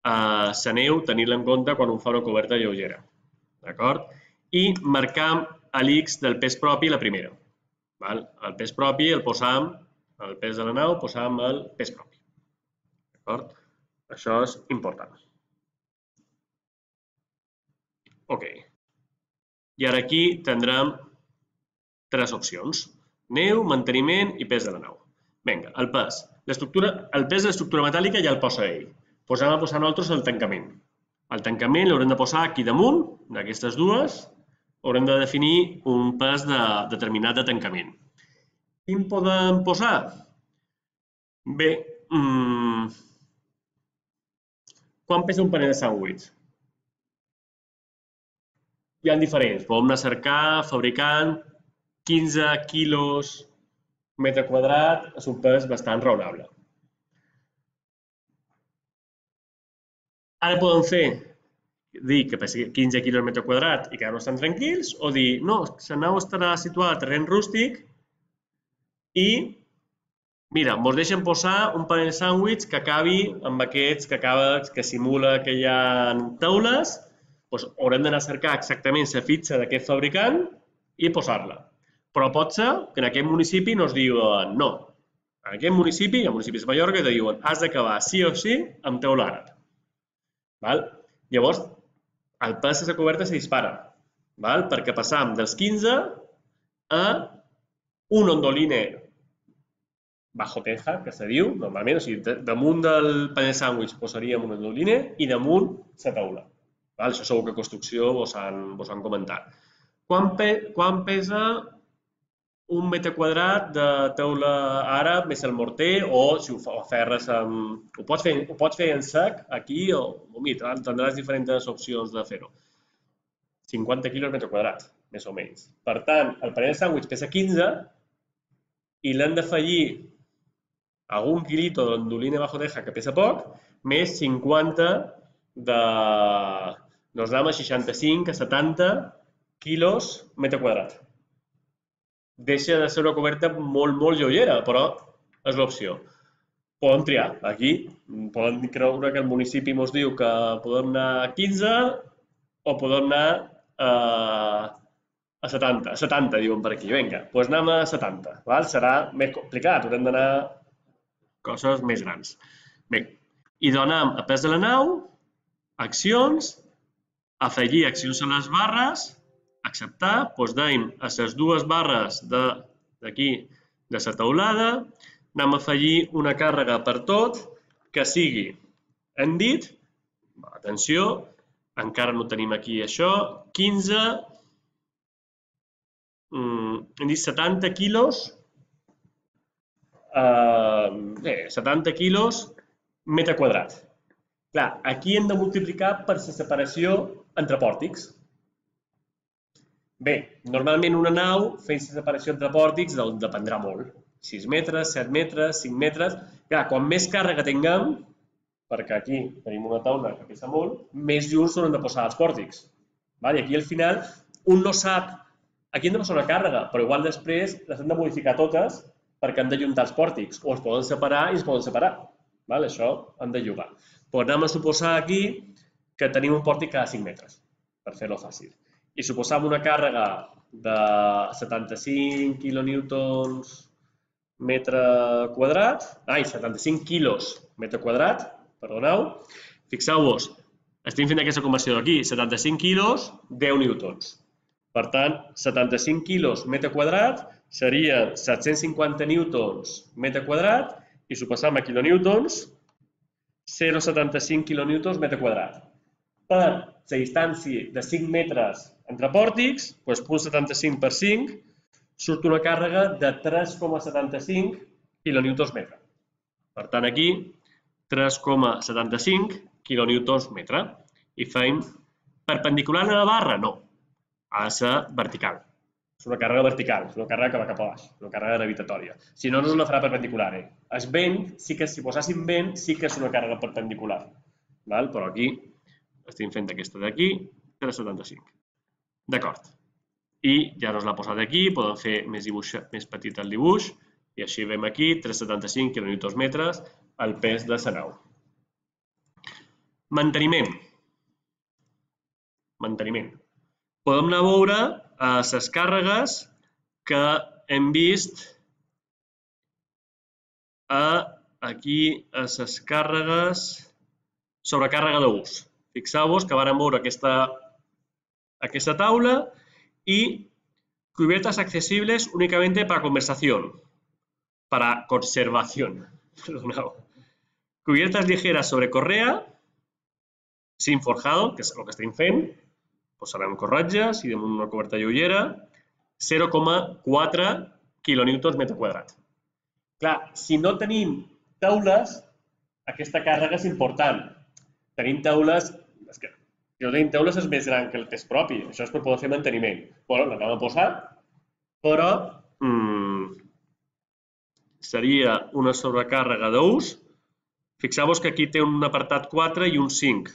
la neu tenir-la en compte quan un fa una coberta lleugera. D'acord? I marcam l'X del pes propi la primera. El pes propi el posam, el pes de la nau, posam el pes propi. D'acord? Això és important. Ok. I ara aquí tindrem tres opcions. Neu, manteniment i pes de la nau. Vinga, el pes. El pes de l'estructura metàl·lica ja el posa ell. Doncs anem a posar nosaltres el tancament. El tancament l'haurem de posar aquí damunt, d'aquestes dues, haurem de definir un pes de, determinat de tancament. Quin podem posar? Bé, mmm, quan pesa un panell de sàndwich? Hi ha diferents, podem anar a cercar, fabricant, quinze quilos metre quadrat, és un pes bastant raonable. Ara podem fer, dir que pesi quinze quilos metre quadrat i quedar-nos tan tranquils, o dir, no, la nau estarà situada a terreny rústic i, mira, ens deixen posar un panell sàndwich que acabi amb aquests que acaba, que simula que hi ha taules, doncs haurem d'anar a cercar exactament la fitxa d'aquest fabricant i posar-la. Però pot ser que en aquest municipi no es diuen no. En aquest municipi, en municipis de Mallorca, te diuen has d'acabar sí o sí amb teula àrab. Val? Llavors, el pes de la coberta se dispara, val? Perquè passam dels quinze a un ondoline bajo teja, que se diu, normalment, o sigui, damunt del panell sàndwich posaríem un ondoline i damunt la taula. Val? Això segur que a construcció vos han, vos han comentat. Quan, pe, quan pesa un metre quadrat de teula àrab més el morter, o si ho ferres amb... Ho pots fer, ho pots fer en sec, aquí, o, o mira, tindràs diferents opcions de fer-ho. cinquanta quilos metre quadrat, més o menys. Per tant, el panell de sàndwich pesa quinze i l'hem d'afegir algun quilito d'ondolina bajo teja, que pesa poc, més cinquanta de... Nos anem a seixanta-cinc a setanta quilos metre quadrat. Deixa de ser una coberta molt, molt lleugera, però és l'opció. Podem triar. Aquí podem creure que el municipi ens diu que podem anar a quinze o podem anar a setanta. A setanta, diuen per aquí. Vinga, doncs anem a setanta. Serà més complicat, haurem d'anar a coses més grans. Bé, i donem a pes de la nau, accions, afegir accions a les barres, acceptar, doncs deim a les dues barres d'aquí, de la taulada, anem a afegir una càrrega per tot que sigui, hem dit, atenció, encara no tenim aquí això, quinze, hem dit setanta quilos, bé, setanta quilos metre quadrat. Clar, aquí hem de multiplicar per la separació entre pòrtics. Bé, normalment una nau fent la separació entre pòrtics dependrà molt. sis metres, set metres, cinc metres... Clar, quan més càrrega tinguem, perquè aquí tenim una taula que pesa molt, més junts s'haurem de posar els pòrtics. I aquí al final un no sap... Aquí hem de posar una càrrega, però igual després les hem de modificar totes perquè hem de juntar els pòrtics. O els poden separar i es poden separar. Això hem de jugar. Però anem a suposar aquí que tenim un pòrtic cada cinc metres, per fer-lo fàcil. I suposam una càrrega de setanta-cinc quilonewtons metre quadrat, ai, setanta-cinc quilos metre quadrat, perdoneu, fixeu-vos, estem fent aquesta conversió d'aquí, setanta-cinc quilos, deu newtons. Per tant, setanta-cinc quilos metre quadrat serien set-cents cinquanta newtons metre quadrat i suposam a kilonewtons, zero coma setanta-cinc kilonewtons metre quadrat. Per la distància de cinc metres entre pòrtics, doncs punt setanta-cinc per cinc, surt una càrrega de tres coma setanta-cinc kilonewtons metre. Per tant, aquí, tres coma setanta-cinc kilonewtons metre. I fem perpendicular a la barra? No. Ha de ser vertical. És una càrrega vertical, és una càrrega que va cap a baix, una càrrega gravitatòria. Si no, no la farà perpendicular. El vent, si poséssim vent, sí que és una càrrega perpendicular. Però aquí estem fent aquesta d'aquí, tres coma setanta-cinc. D'acord. I ja nos l'ha posat aquí, podem fer més petit el dibuix, i així veiem aquí, tres coma setanta-cinc kilonewtons metres, el pes de la nau. Manteniment. Manteniment. Podem anar a veure les càrregues que hem vist aquí, a les càrregues, sobrecàrrega d'ús. Fixeu-vos que vàrem veure aquesta, aquesta taula y cubiertas accesibles únicamente para conversación, para conservación. Cubiertas ligeras sobre correa cinc forjado, que és el que estem fent, posarem corretges i damunt una coberta lleugera, zero coma quatre quilonewtons metre quadrat. Clar, si no tenim taules, aquesta càrrega és important. Tenim taules, és que si no tenim taules és més gran que el pes propi, això és per poder fer manteniment. Bueno, l'anem a posar, però mmm, seria una sobrecàrrega d'ús. Fixeu-vos que aquí té un apartat quatre i un cinc.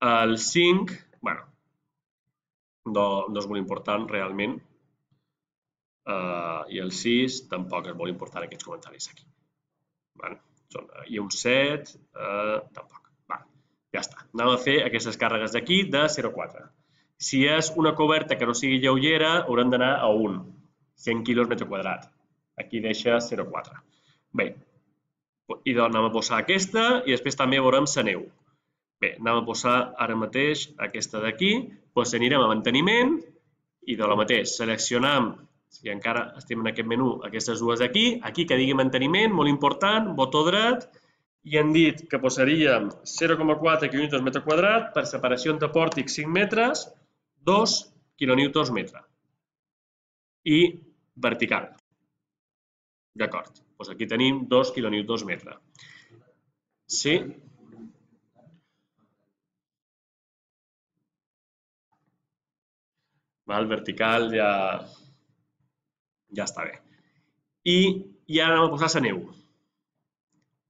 El cinc, bueno, no, no és molt important realment. Uh, I el sis tampoc és molt important aquests comentaris aquí. Vale. Són, uh, I un set, uh, tampoc. Vale. Ja està. Anem a fer aquestes càrregues d'aquí de zero coma quatre. Si és una coberta que no sigui lleugera, haurem d'anar a un, cent quilos metre quadrat. Aquí deixa zero coma quatre. Bé, i doncs anem a posar aquesta i després també veurem la neu. Bé, anem a posar ara mateix aquesta d'aquí, doncs anirem a manteniment i de la mateix seleccionam, si encara estem en aquest menú, aquestes dues d'aquí, aquí que digui manteniment, molt important, botó dret, i hem dit que posaríem zero coma quatre quilonewtons metre quadrat per separació entre pòrtics cinc metres, dos quilonewtons metre. I vertical. D'acord, doncs aquí tenim dos quilonewtons metre. Sí? El vertical ja, ja està bé. I, i ara anem a posar la neu.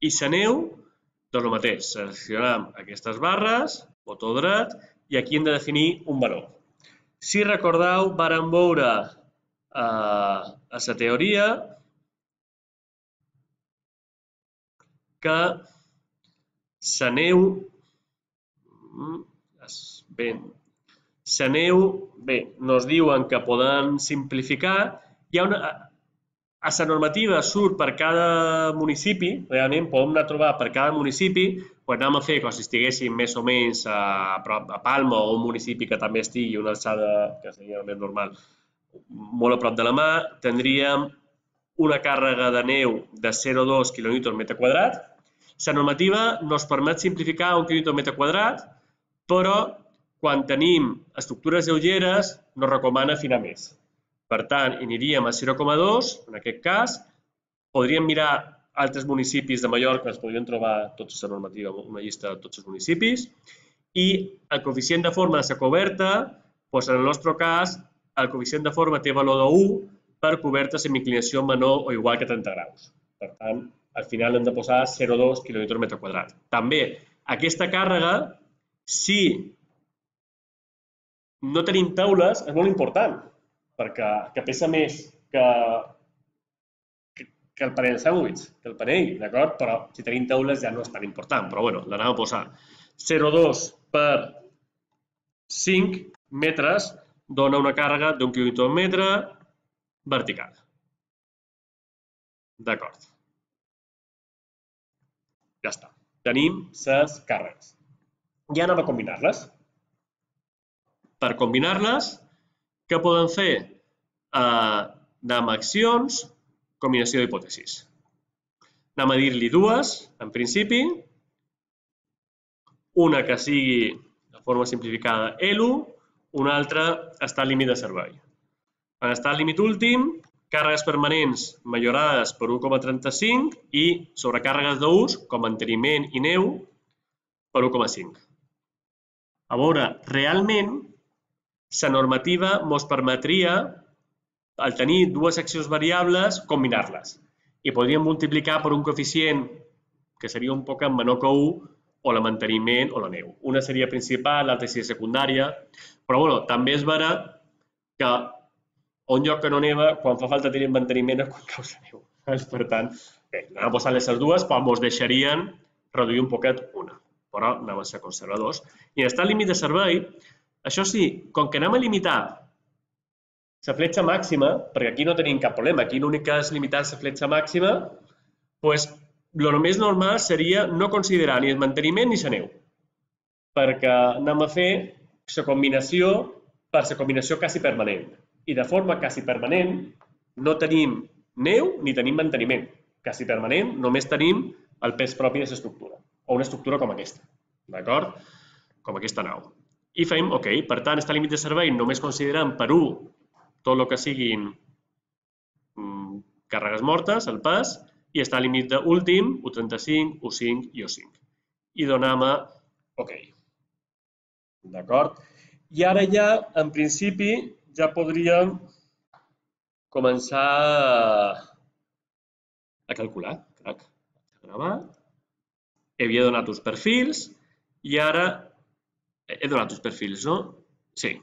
I la neu, doncs el mateix, seleccionem aquestes barres, botó dret, i aquí hem de definir un valor. Si recordeu, vàrem veure eh, a la teoria que la neu, bé, la neu, bé, nos diuen que poden simplificar, hi ha una, a la normativa surt per cada municipi, realment podem anar a trobar per cada municipi, doncs anem a fer com si estiguéssim més o menys a, a Palma o un municipi que també estigui a una alçada, que seria el més normal, molt a prop de la mà, tindríem una càrrega de neu de zero coma dos quilonewtons metre quadrat. La normativa ens permet simplificar un quilonewton metre quadrat, però quan tenim estructures lleugeres no recomana afinar més. Per tant, aniríem a zero coma dos, en aquest cas. Podríem mirar altres municipis de Mallorca, ens podrien trobar tota la normativa, una llista de tots els municipis. I el coeficient de forma de la coberta, doncs en el nostre cas, el coeficient de forma té valor d'un per cobertes amb inclinació menor o igual que trenta graus. Per tant, al final hem de posar zero coma dos quilonewtons metre quadrat. També, aquesta càrrega, si no tenim taules, és molt important, perquè que pesa més que, que, que el panell de sàndwich, que el panell, d'acord? Però si tenim taules ja no és tan important, però bueno, l'anem a posar. zero coma dos per cinc metres dona una càrrega d'un quilonewton metre vertical. D'acord. Ja està. Tenim les càrregues. Ja anem a combinar-les. Per combinar-les, què podem fer? Eh, anem a accions, combinació d'hipòtesis. Anem a dir-li dues, en principi. Una que sigui de forma simplificada E L U, una altra estat límit de servei. En estat límit últim, càrregues permanents millorades per un coma trenta-cinc i sobrecàrregues d'ús, com manteniment i neu, per un coma cinc. A veure, realment, la normativa ens permetria, al tenir dues accions variables, combinar-les. I podríem multiplicar per un coeficient que seria un poc menor que u, o la manteniment o la neu. Una seria principal, l'altra seria secundària, però bueno, també es verà que a un lloc que no neva, quan fa falta tenir manteniment és quan cau la neu. Per tant, bé, anem a posar les dues, però ens deixarien reduir un poquet una, però anem a ser conservadors. I en estat límit de servei, això sí, com que anem a limitar la fletxa màxima, perquè aquí no tenim cap problema, aquí l'únic que és limitar la fletxa màxima, doncs el més normal seria no considerar ni el manteniment ni la neu, perquè anem a fer la combinació per la combinació quasi permanent. I de forma quasi permanent no tenim neu ni tenim manteniment. Quasi permanent només tenim el pes propi de l'estructura, o una estructura com aquesta. D'acord? com aquesta nau. I fem OK. Per tant, està límit de servei només considerant per u tot el que siguin càrregues mortes, el pes, i està límit d'últim, u trenta-cinc, u cinc i u cinc. I donem a OK. D'acord? I ara ja, en principi, ja podríem començar a calcular. Crac. Gravar. Havia donat uns perfils i ara he donat uns perfils, no? Sí.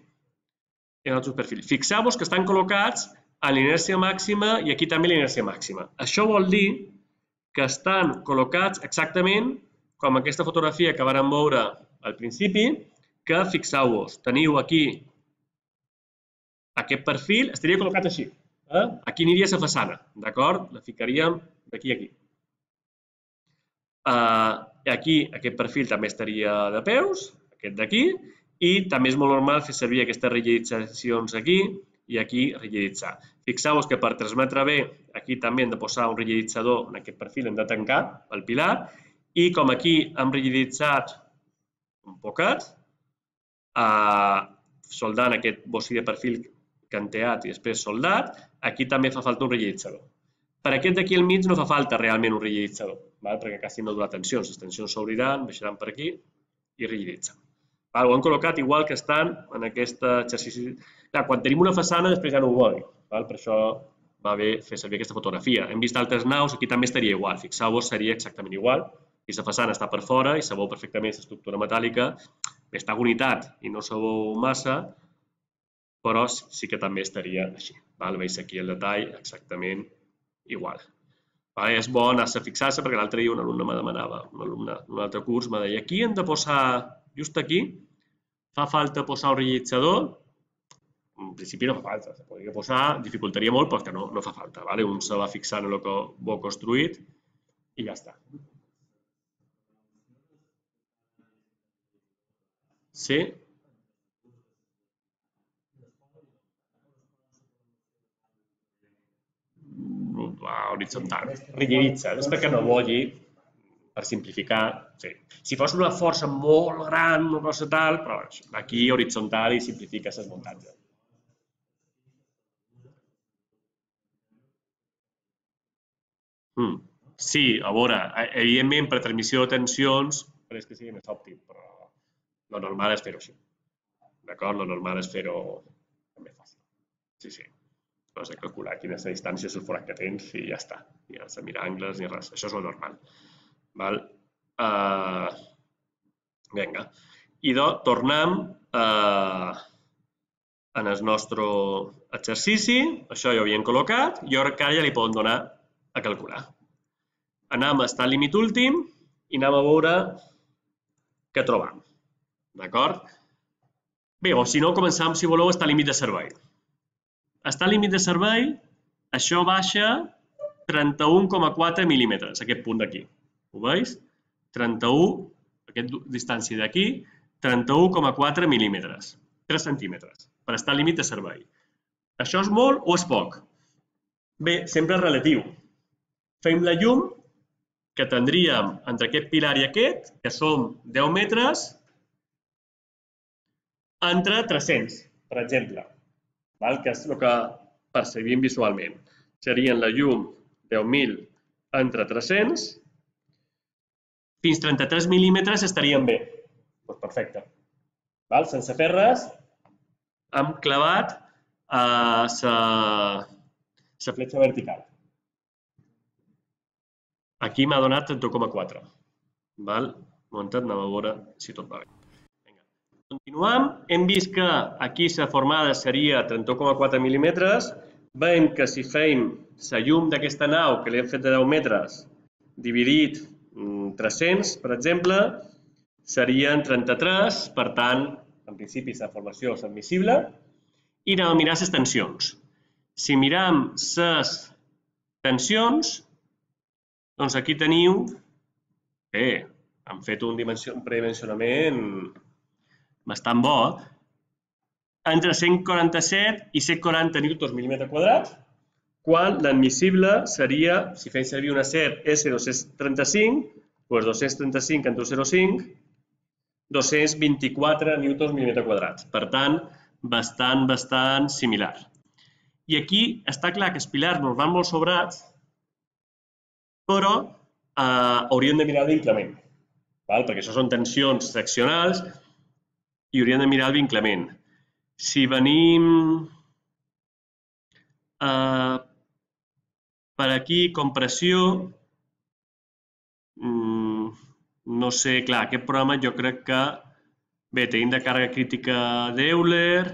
He donat uns perfils. Fixeu-vos que estan col·locats a l'inèrcia màxima i aquí també l'inèrcia màxima. Això vol dir que estan col·locats exactament com aquesta fotografia que vàrem veure al principi, que fixeu-vos, teniu aquí aquest perfil, estaria col·locat així. Aquí aniria la façana, d'acord? La ficaríem d'aquí a aquí. Aquí aquest perfil també estaria de peus, aquest d'aquí, i també és molt normal fer servir aquestes rigiditzacions aquí i aquí rigiditzar. Fixeu-vos que per transmetre bé, aquí també hem de posar un rigiditzador, en aquest perfil hem de tancar el pilar, i com aquí hem rigiditzat un poquet, soldant aquest bocí de perfil canteat i després soldat, aquí també fa falta un rigiditzador. Per aquest d'aquí al mig no fa falta realment un rigiditzador, perquè quasi no dura tensions. Les tensions s'obriran, baixaran per aquí i rigiditzen. Ho han col·locat igual que estan en aquest exercici. Quan tenim una façana, després ja no ho volen. Per això va bé fer servir aquesta fotografia. Hem vist altres naus, aquí també estaria igual. Fixeu-vos, seria exactament igual. I la façana està per fora i se veu perfectament l'estructura metàl·lica. Està unitat i no se veu massa, però sí que també estaria així. Veus aquí el detall exactament igual. És bo anar-se a fixar-se perquè l'altre dia un alumne me demanava, un alumne d'un altre curs, me deia, aquí hem de posar, just aquí, fa falta posar un rigiditzador? En principi no fa falta, se podria posar, dificultaria molt perquè no fa falta. Un se va fixant en el que ho ha construït i ja està. Sí? Horitzontal. Rigiditza, és perquè no vulgui, per simplificar. Si fos una força molt gran, una cosa tal, però aquí horitzontal i simplifica les muntatges. Sí, a veure, evidentment per transmissió de tensions és que sigui més òptim, però el normal és fer-ho així. D'acord? El normal és fer-ho més fàcil. Sí, sí. No has de calcular quina és la distància del forat que tens i ja està. Ni has de mirar angles ni res. Això és el normal. Vinga. I tornem en el nostre exercici. Això ja ho havíem col·locat i ara ja li podem donar a calcular. Anem a estar al límit últim i anem a veure què trobam. D'acord? Bé, o si no, començam, si voleu, a estar al límit de servei. Està al límit de servei, això baixa trenta-u coma quatre mil·límetres, aquest punt d'aquí. Ho veus? trenta-u, aquesta distància d'aquí, trenta-u coma quatre mil·límetres, tres centímetres, per estar al límit de servei. Això és molt o és poc? Bé, sempre és relatiu. Fem la llum que tindríem entre aquest pilar i aquest, que són deu metres, entre tres-cents, per exemple. Que és el que percebim visualment. Serien la llum deu mil entre tres-cents, fins trenta-tres mil·límetres estarien bé. Doncs perfecte. Sense fer res, hem clavat la fletxa vertical. Aquí m'ha donat trenta coma quatre. Anem a veure si tot va bé. Continuem, hem vist que aquí la formada seria trenta coma quatre mil·límetres, veiem que si fem la llum d'aquesta nau, que l'hem fet de deu metres, dividit tres-cents, per exemple, serien trenta-tres, per tant, en principi la formació és admissible, i anem a mirar les tensions. Si miram les tensions, doncs aquí teniu, bé, hem fet un predimensionament bastant bo, entre cent quaranta-set i cent quaranta newtons mil·límetre quadrat, quan l'admissible seria, si fem servir un acer S dos-cents trenta-cinc, doncs dos-cents trenta-cinc entre zero coma cinc dos-cents vint-i-quatre newtons mil·límetre quadrat. Per tant, bastant, bastant similar. I aquí està clar que els pilars nos van molt sobrats, però eh, hauríem de mirar el vinclament, val? Perquè això són tensions seccionals i hauríem de mirar el vinclament. Si venim eh, per aquí, compressió, mm, no sé, clar, aquest programa jo crec que, bé, tenim de càrrega crítica d'Euler,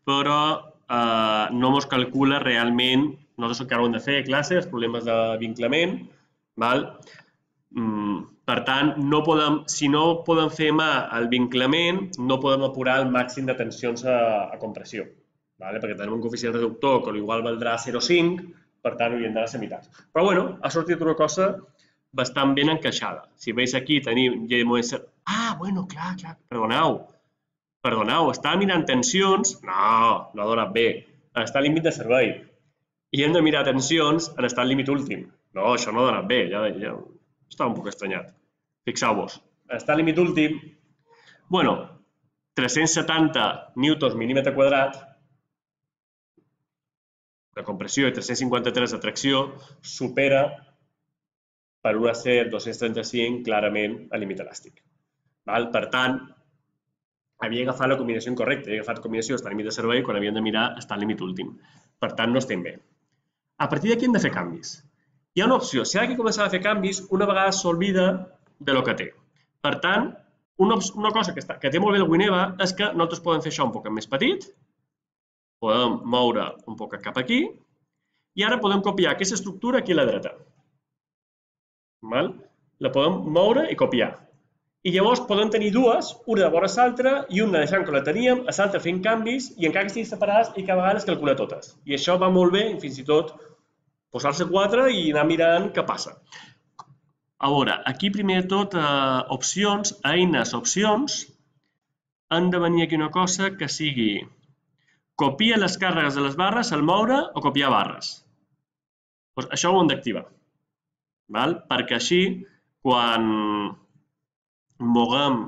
però eh, no mos calcula realment, nosaltres encara ho hem de fer a classe, els problemes de vinclament, val? Mm, per tant, no podem, si no podem fer mà el vinclament, no podem apurar el màxim de tensions a, a compressió, vale? Perquè tenim un coeficient reductor que igual valdrà zero coma cinc, per tant, hauríem d'anar a la meitat. Però, bueno, ha sortit una cosa bastant ben encaixada. Si veus aquí, tenim... Ah, bueno, clar, clar, perdoneu. Perdoneu, estava mirant tensions... No, no ha donat bé. En estat límit de servei. I hem de mirar tensions en estat límit últim. No, això no ha donat bé, ja, ja estava un poc estranyat. Fixeu-vos, en estat límit últim, bueno, tres-cents setanta newtons mil·límetre quadrat de compressió i tres-cents cinquanta-tres de tracció supera per un acer dos-cents trenta-cinc clarament el límit elàstic. Val? Per tant, havia agafat la combinació incorrecta, havia agafat combinació estat límit de servei quan havíem de mirar estat límit últim. Per tant, no estem bé. A partir d'aquí hem de fer canvis. Hi ha una opció, si ara que començar a fer canvis, una vegada s'olvida de lo que té. Per tant, una, una cosa que, està, que té molt bé el Wineva és que nosaltres podem fer això un poc més petit, podem moure un poc cap aquí, i ara podem copiar aquesta estructura aquí a la dreta. Val? La podem moure i copiar. I llavors podem tenir dues, una de vora l'altra i una deixant que la teníem, a l'altra fent canvis i encara que estiguin separades i cada vegada les calcula totes. I això va molt bé, fins i tot posar-se quatre i anar mirant què passa. A veure, aquí primer de tot, eh, opcions, eines, opcions, han de venir aquí una cosa que sigui copia les càrregues de les barres al moure o copiar barres. Doncs això ho hem d'activar, perquè així, quan moguem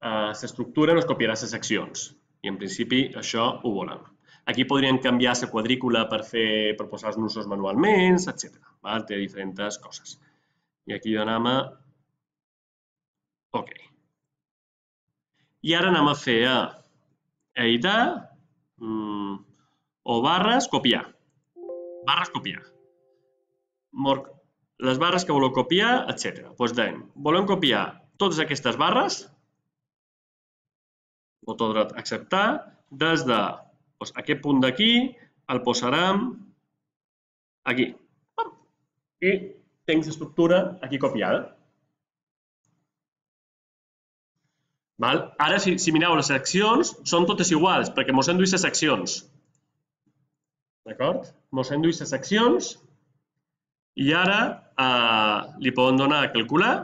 l'estructura, no es copiarà les seccions. I en principi això ho volem. Aquí podríem canviar la quadrícula per, fer, per posar els nusos manualment, etcètera. Té diferents coses. I aquí anem a... OK. I ara anem a fer a editar o barres, copiar. Barres, copiar. Les barres que voleu copiar, etcètera. Doncs dèiem, volem copiar totes aquestes barres, botó dret acceptar, des d'aquest punt d'aquí el posarem aquí. I tinc l'estructura aquí copiada. Ara, si mireu les seccions, són totes iguals, perquè mos hem duit les seccions. D'acord? Mos hem duit les seccions i ara li podem donar a calcular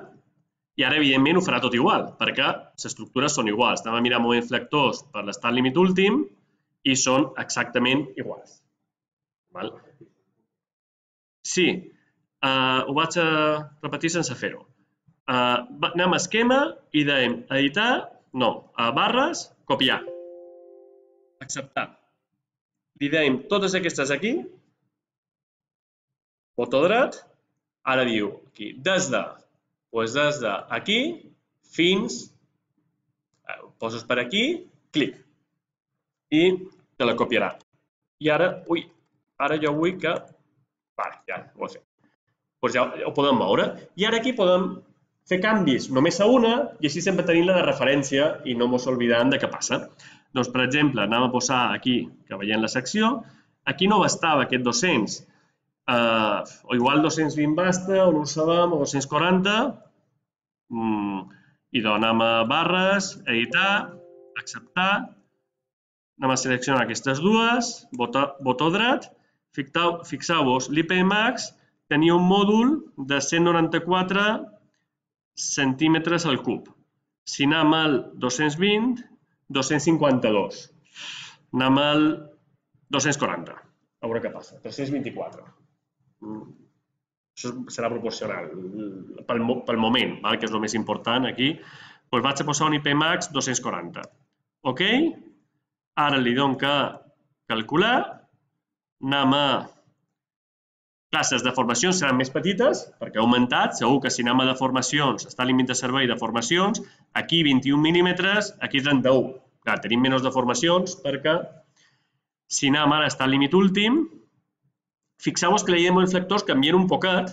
i ara, evidentment, ho farà tot igual, perquè les estructures són iguals. Anem a mirar moviments flectors per l'estat límit últim i són exactament iguals. Sí, ho vaig a repetir sense fer-ho. Anem a esquema i dèiem editar, no, a barres, copiar. Acceptar. Li dèiem totes aquestes aquí, botó dret, ara diu aquí, des de, doncs des d'aquí fins, poses per aquí, clic, i te la copiarà. I ara, ui, ara jo vull que, vale, ja ho he fet. Doncs ja ho podem moure. I ara aquí podem fer canvis només a una i així sempre tenim la de referència i no mos oblidem de què passa. Doncs, per exemple, anem a posar aquí, que veiem la secció, aquí no bastava aquest dos-cents, o igual dos-cents vint basta, o no ho sabem, o dos-cents quaranta, i doncs anem a barres, editar, acceptar, anem a seleccionar aquestes dues, botó dret, fixeu-vos, l'I P Max tenia un mòdul de cent noranta-quatre centímetres al cub. Si anem al dos-cents vint, dos-cents cinquanta-dos. Anem al dos-cents quaranta. A veure què passa. tres-cents vint-i-quatre. Això serà proporcional pel, pel moment, val? Que és el més important aquí. Doncs vaig a posar un I P max dos-cents quaranta. Ok? Ara li dono que calcular. Anem a... Clar, les deformacions seran més petites perquè ha augmentat. Segur que si anem a deformacions, està al límit de servei de deformacions, aquí vint-i-un mil·límetres, aquí trenta-u. Clar, tenim menys deformacions perquè si anem ara està al límit últim, fixeu-vos que la llei de moviments flectors canvia un poquet.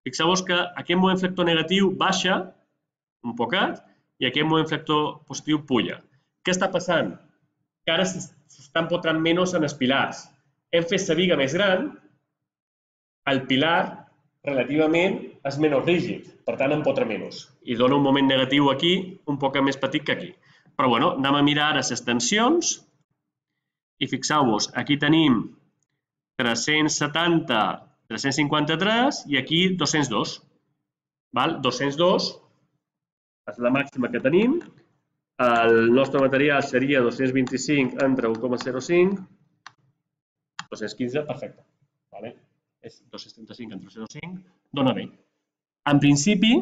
Fixeu-vos que aquest moviment flector negatiu baixa un poquet i aquest moviment flector positiu puja. Què està passant? Que ara s'estan empotrant menys en els pilars. Hem fet la viga més gran, el pilar relativament és menys rígid, per tant empotra menys. I dona un moment negatiu aquí un poc més petit que aquí. Però bueno, anem a mirar ara les tensions i fixeu-vos, aquí tenim tres-cents setanta, tres-cents cinquanta-tres i aquí dos-cents dos. dos-cents dos és la màxima que tenim. El nostre material seria dos-cents vint-i-cinc entre un coma zero cinc, dos-cents quinze, perfecte. És dos-cents trenta-cinc entre zero coma cinc, dona bé. En principi,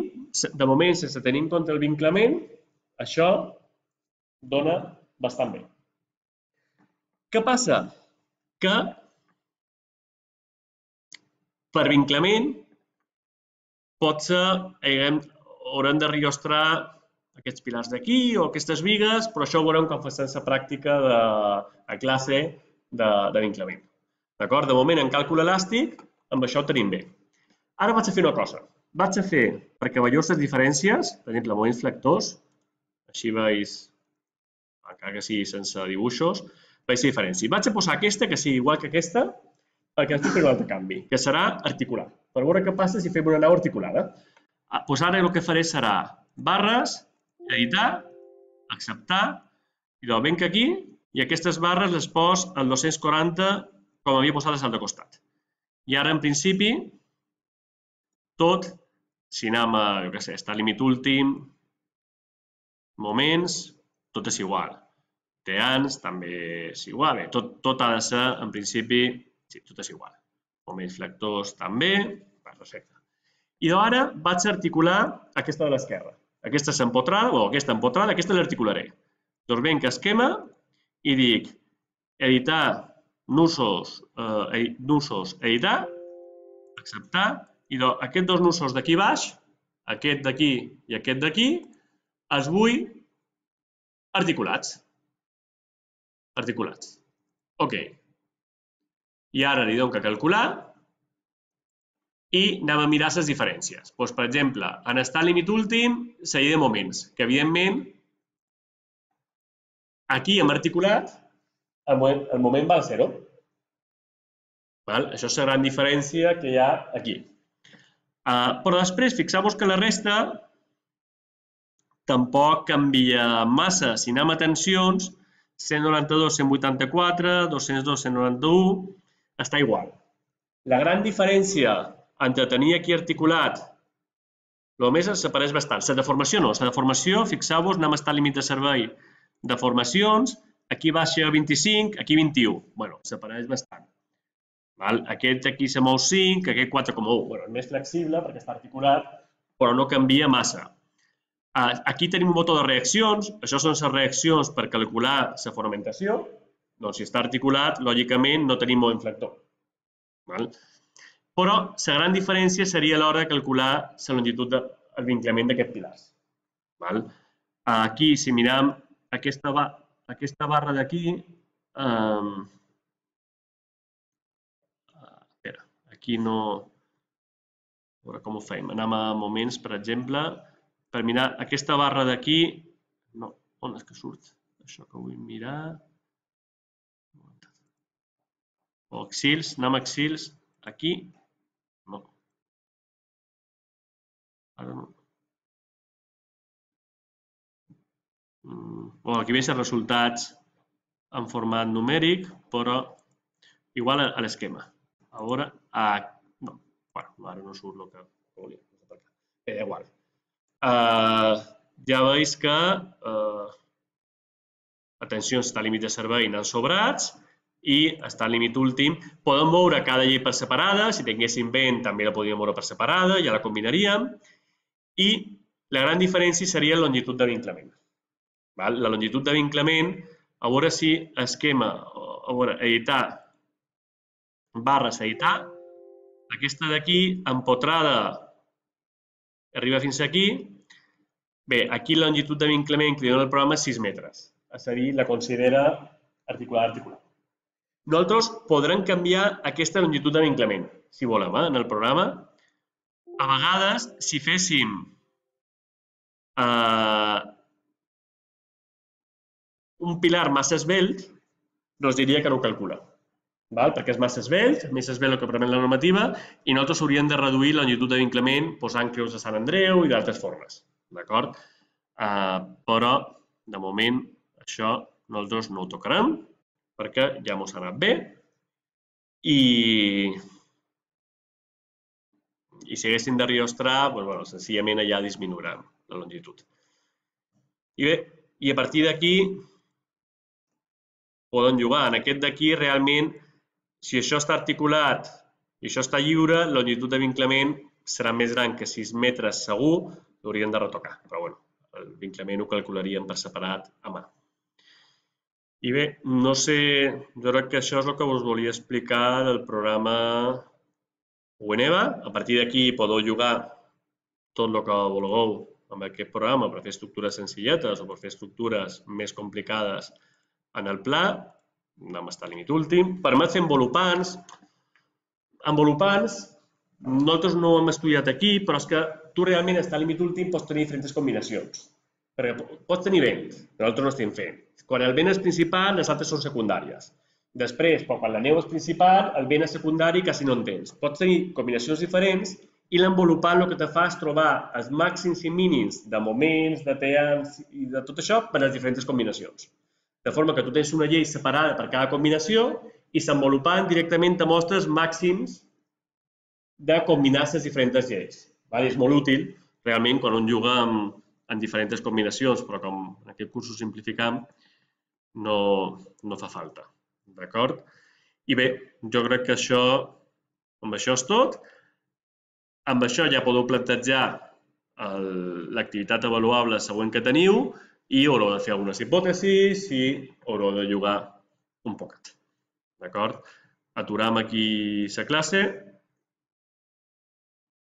de moment, sense tenir en compte el vinclament, això dona bastant bé. Què passa? Que per vinclament potser haurem de riostrar aquests pilars d'aquí o aquestes vigues, però això ho veurem quan fem la pràctica de classe de vinclament. D'acord? De moment, en càlcul elàstic, amb això ho tenim bé. Ara vaig a fer una cosa. Vaig a fer, perquè veieu les diferències, per exemple, moviments flectors, així veus, encara que sigui sense dibuixos, veus la diferència. Vaig a posar aquesta, que sigui igual que aquesta, perquè estic fent un altre canvi, que serà articular. Per veure què passa si fem una nau articulada. Doncs ara el que faré serà barres, editar, acceptar, i doncs venc aquí, i aquestes barres les pos al dos-cents quaranta com havia posat a l'altre costat. I ara, en principi, tot, si anem a, jo què sé, està al límit últim, moments, tot és igual. Teans també és igual. Tot ha de ser, en principi, sí, tot és igual. Moments flectors també, perfecte. I ara vaig a articular aquesta de l'esquerra. Aquesta s'empotrada, o aquesta empotrada, aquesta l'articularé. Doncs venc a esquema i dic editar, nusos, editar, acceptar, i aquests dos nusos d'aquí baix, aquest d'aquí i aquest d'aquí, els vull articulats. Articulats. Ok. I ara li dono que calcular i anem a mirar les diferències. Doncs, per exemple, en estar al límit últim, la llei de moments, que evidentment aquí hem articulat, el moment val zero. Això és la gran diferència que hi ha aquí. Però després, fixeu-vos que la resta tampoc canvia massa. Si anem a tensions, cent noranta-dos, cent vuitanta-quatre, dos-cents dos, cent noranta-u, està igual. La gran diferència entre tenir aquí articulat, només es separeix bastant. La deformació no. La deformació, fixeu-vos, anem a estar al límit de servei de formacions, aquí baixa vint-i-cinc, aquí vint-i-u. Bé, separeix bastant. Aquest aquí se mou cinc, aquest quatre coma u. És més flexible perquè està articulat, però no canvia massa. Aquí tenim un botó de reaccions. Això són les reaccions per calcular la fonamentació. Doncs si està articulat, lògicament no tenim moviment flector. Però la gran diferència seria a l'hora de calcular la longitud del vinclament d'aquests pilars. Aquí, si mirem aquesta barra d'aquí, aquí no... A veure com ho fem. Anem a moments, per exemple, per mirar aquesta barra d'aquí... No, on és que surt? Això que vull mirar... O axils, anem a axils, aquí... No. Ara no. Aquí veig els resultats en format numèric, però igual a l'esquema. A veure... No, ara no surt el que volia. És igual. Ja veus que la tensió està al límit de servei, n'han sobrats, i està al límit últim. Podem veure cada llei per separada, si tinguéssim vent també la podríem veure per separada, ja la combinaríem, i la gran diferència seria la longitud de vinclament. La longitud de vinclament, a veure si esquema, a veure, editar, barres, editar, aquesta d'aquí, empotrada, arriba fins aquí. Bé, aquí la longitud de vinclament que li dona el programa és sis metres. És a dir, la considera articular-articular. Nosaltres podrem canviar aquesta longitud de vinclament, si volem, en el programa. A vegades, si féssim un pilar massa esvelt, ens diria que no ho calcula, perquè és massa esvelt, més esvelt el que permet la normativa, i nosaltres hauríem de reduir la longitud de vinclament posant creus de Sant Andreu i d'altres formes. D'acord? Però, de moment, això nosaltres no ho tocarem, perquè ja mos ha anat bé, i si haguéssim de riostrar, senzillament allà disminuirem la longitud. I bé, i a partir d'aquí podem jugar. En aquest d'aquí, realment, si això està articulat i això està lliure, la longitud de vinclament serà més gran que sis metres segur, l'hauríem de retocar. Però bé, el vinclament ho calcularíem per separat a mà. I bé, no sé, jo crec que això és el que us volia explicar del programa Weneva. A partir d'aquí podeu jugar tot el que vulgueu amb aquest programa per fer estructures senzilletes o per fer estructures més complicades en el pla, anem a estar al límit últim. Permet fer envolupants. Envolupants, nosaltres no ho hem estudiat aquí, però és que tu realment estar al límit últim pots tenir diferents combinacions. Perquè pots tenir vent, però nosaltres no estem fent. Quan el vent és principal, les altres són secundàries. Després, quan la neu és principal, el vent és secundari i quasi no en tens. Pots tenir combinacions diferents i l'envolupant el que te fa és trobar els màxims i mínims de moments, de temps i de tot això per a les diferents combinacions. De forma que tu tens una llei separada per cada combinació i l'envolupant directament te mostra els màxims de combinar les diferents lleis. És molt útil, realment, quan un juga en diferents combinacions, però com en aquest curs ho simplificam, no fa falta. D'acord? I bé, jo crec que això, amb això és tot. Amb això ja podeu plantejar l'activitat avaluable següent que teniu i haureu de fer algunes hipòtesis i haureu de jugar un poquet. D'acord? Aturam aquí la classe.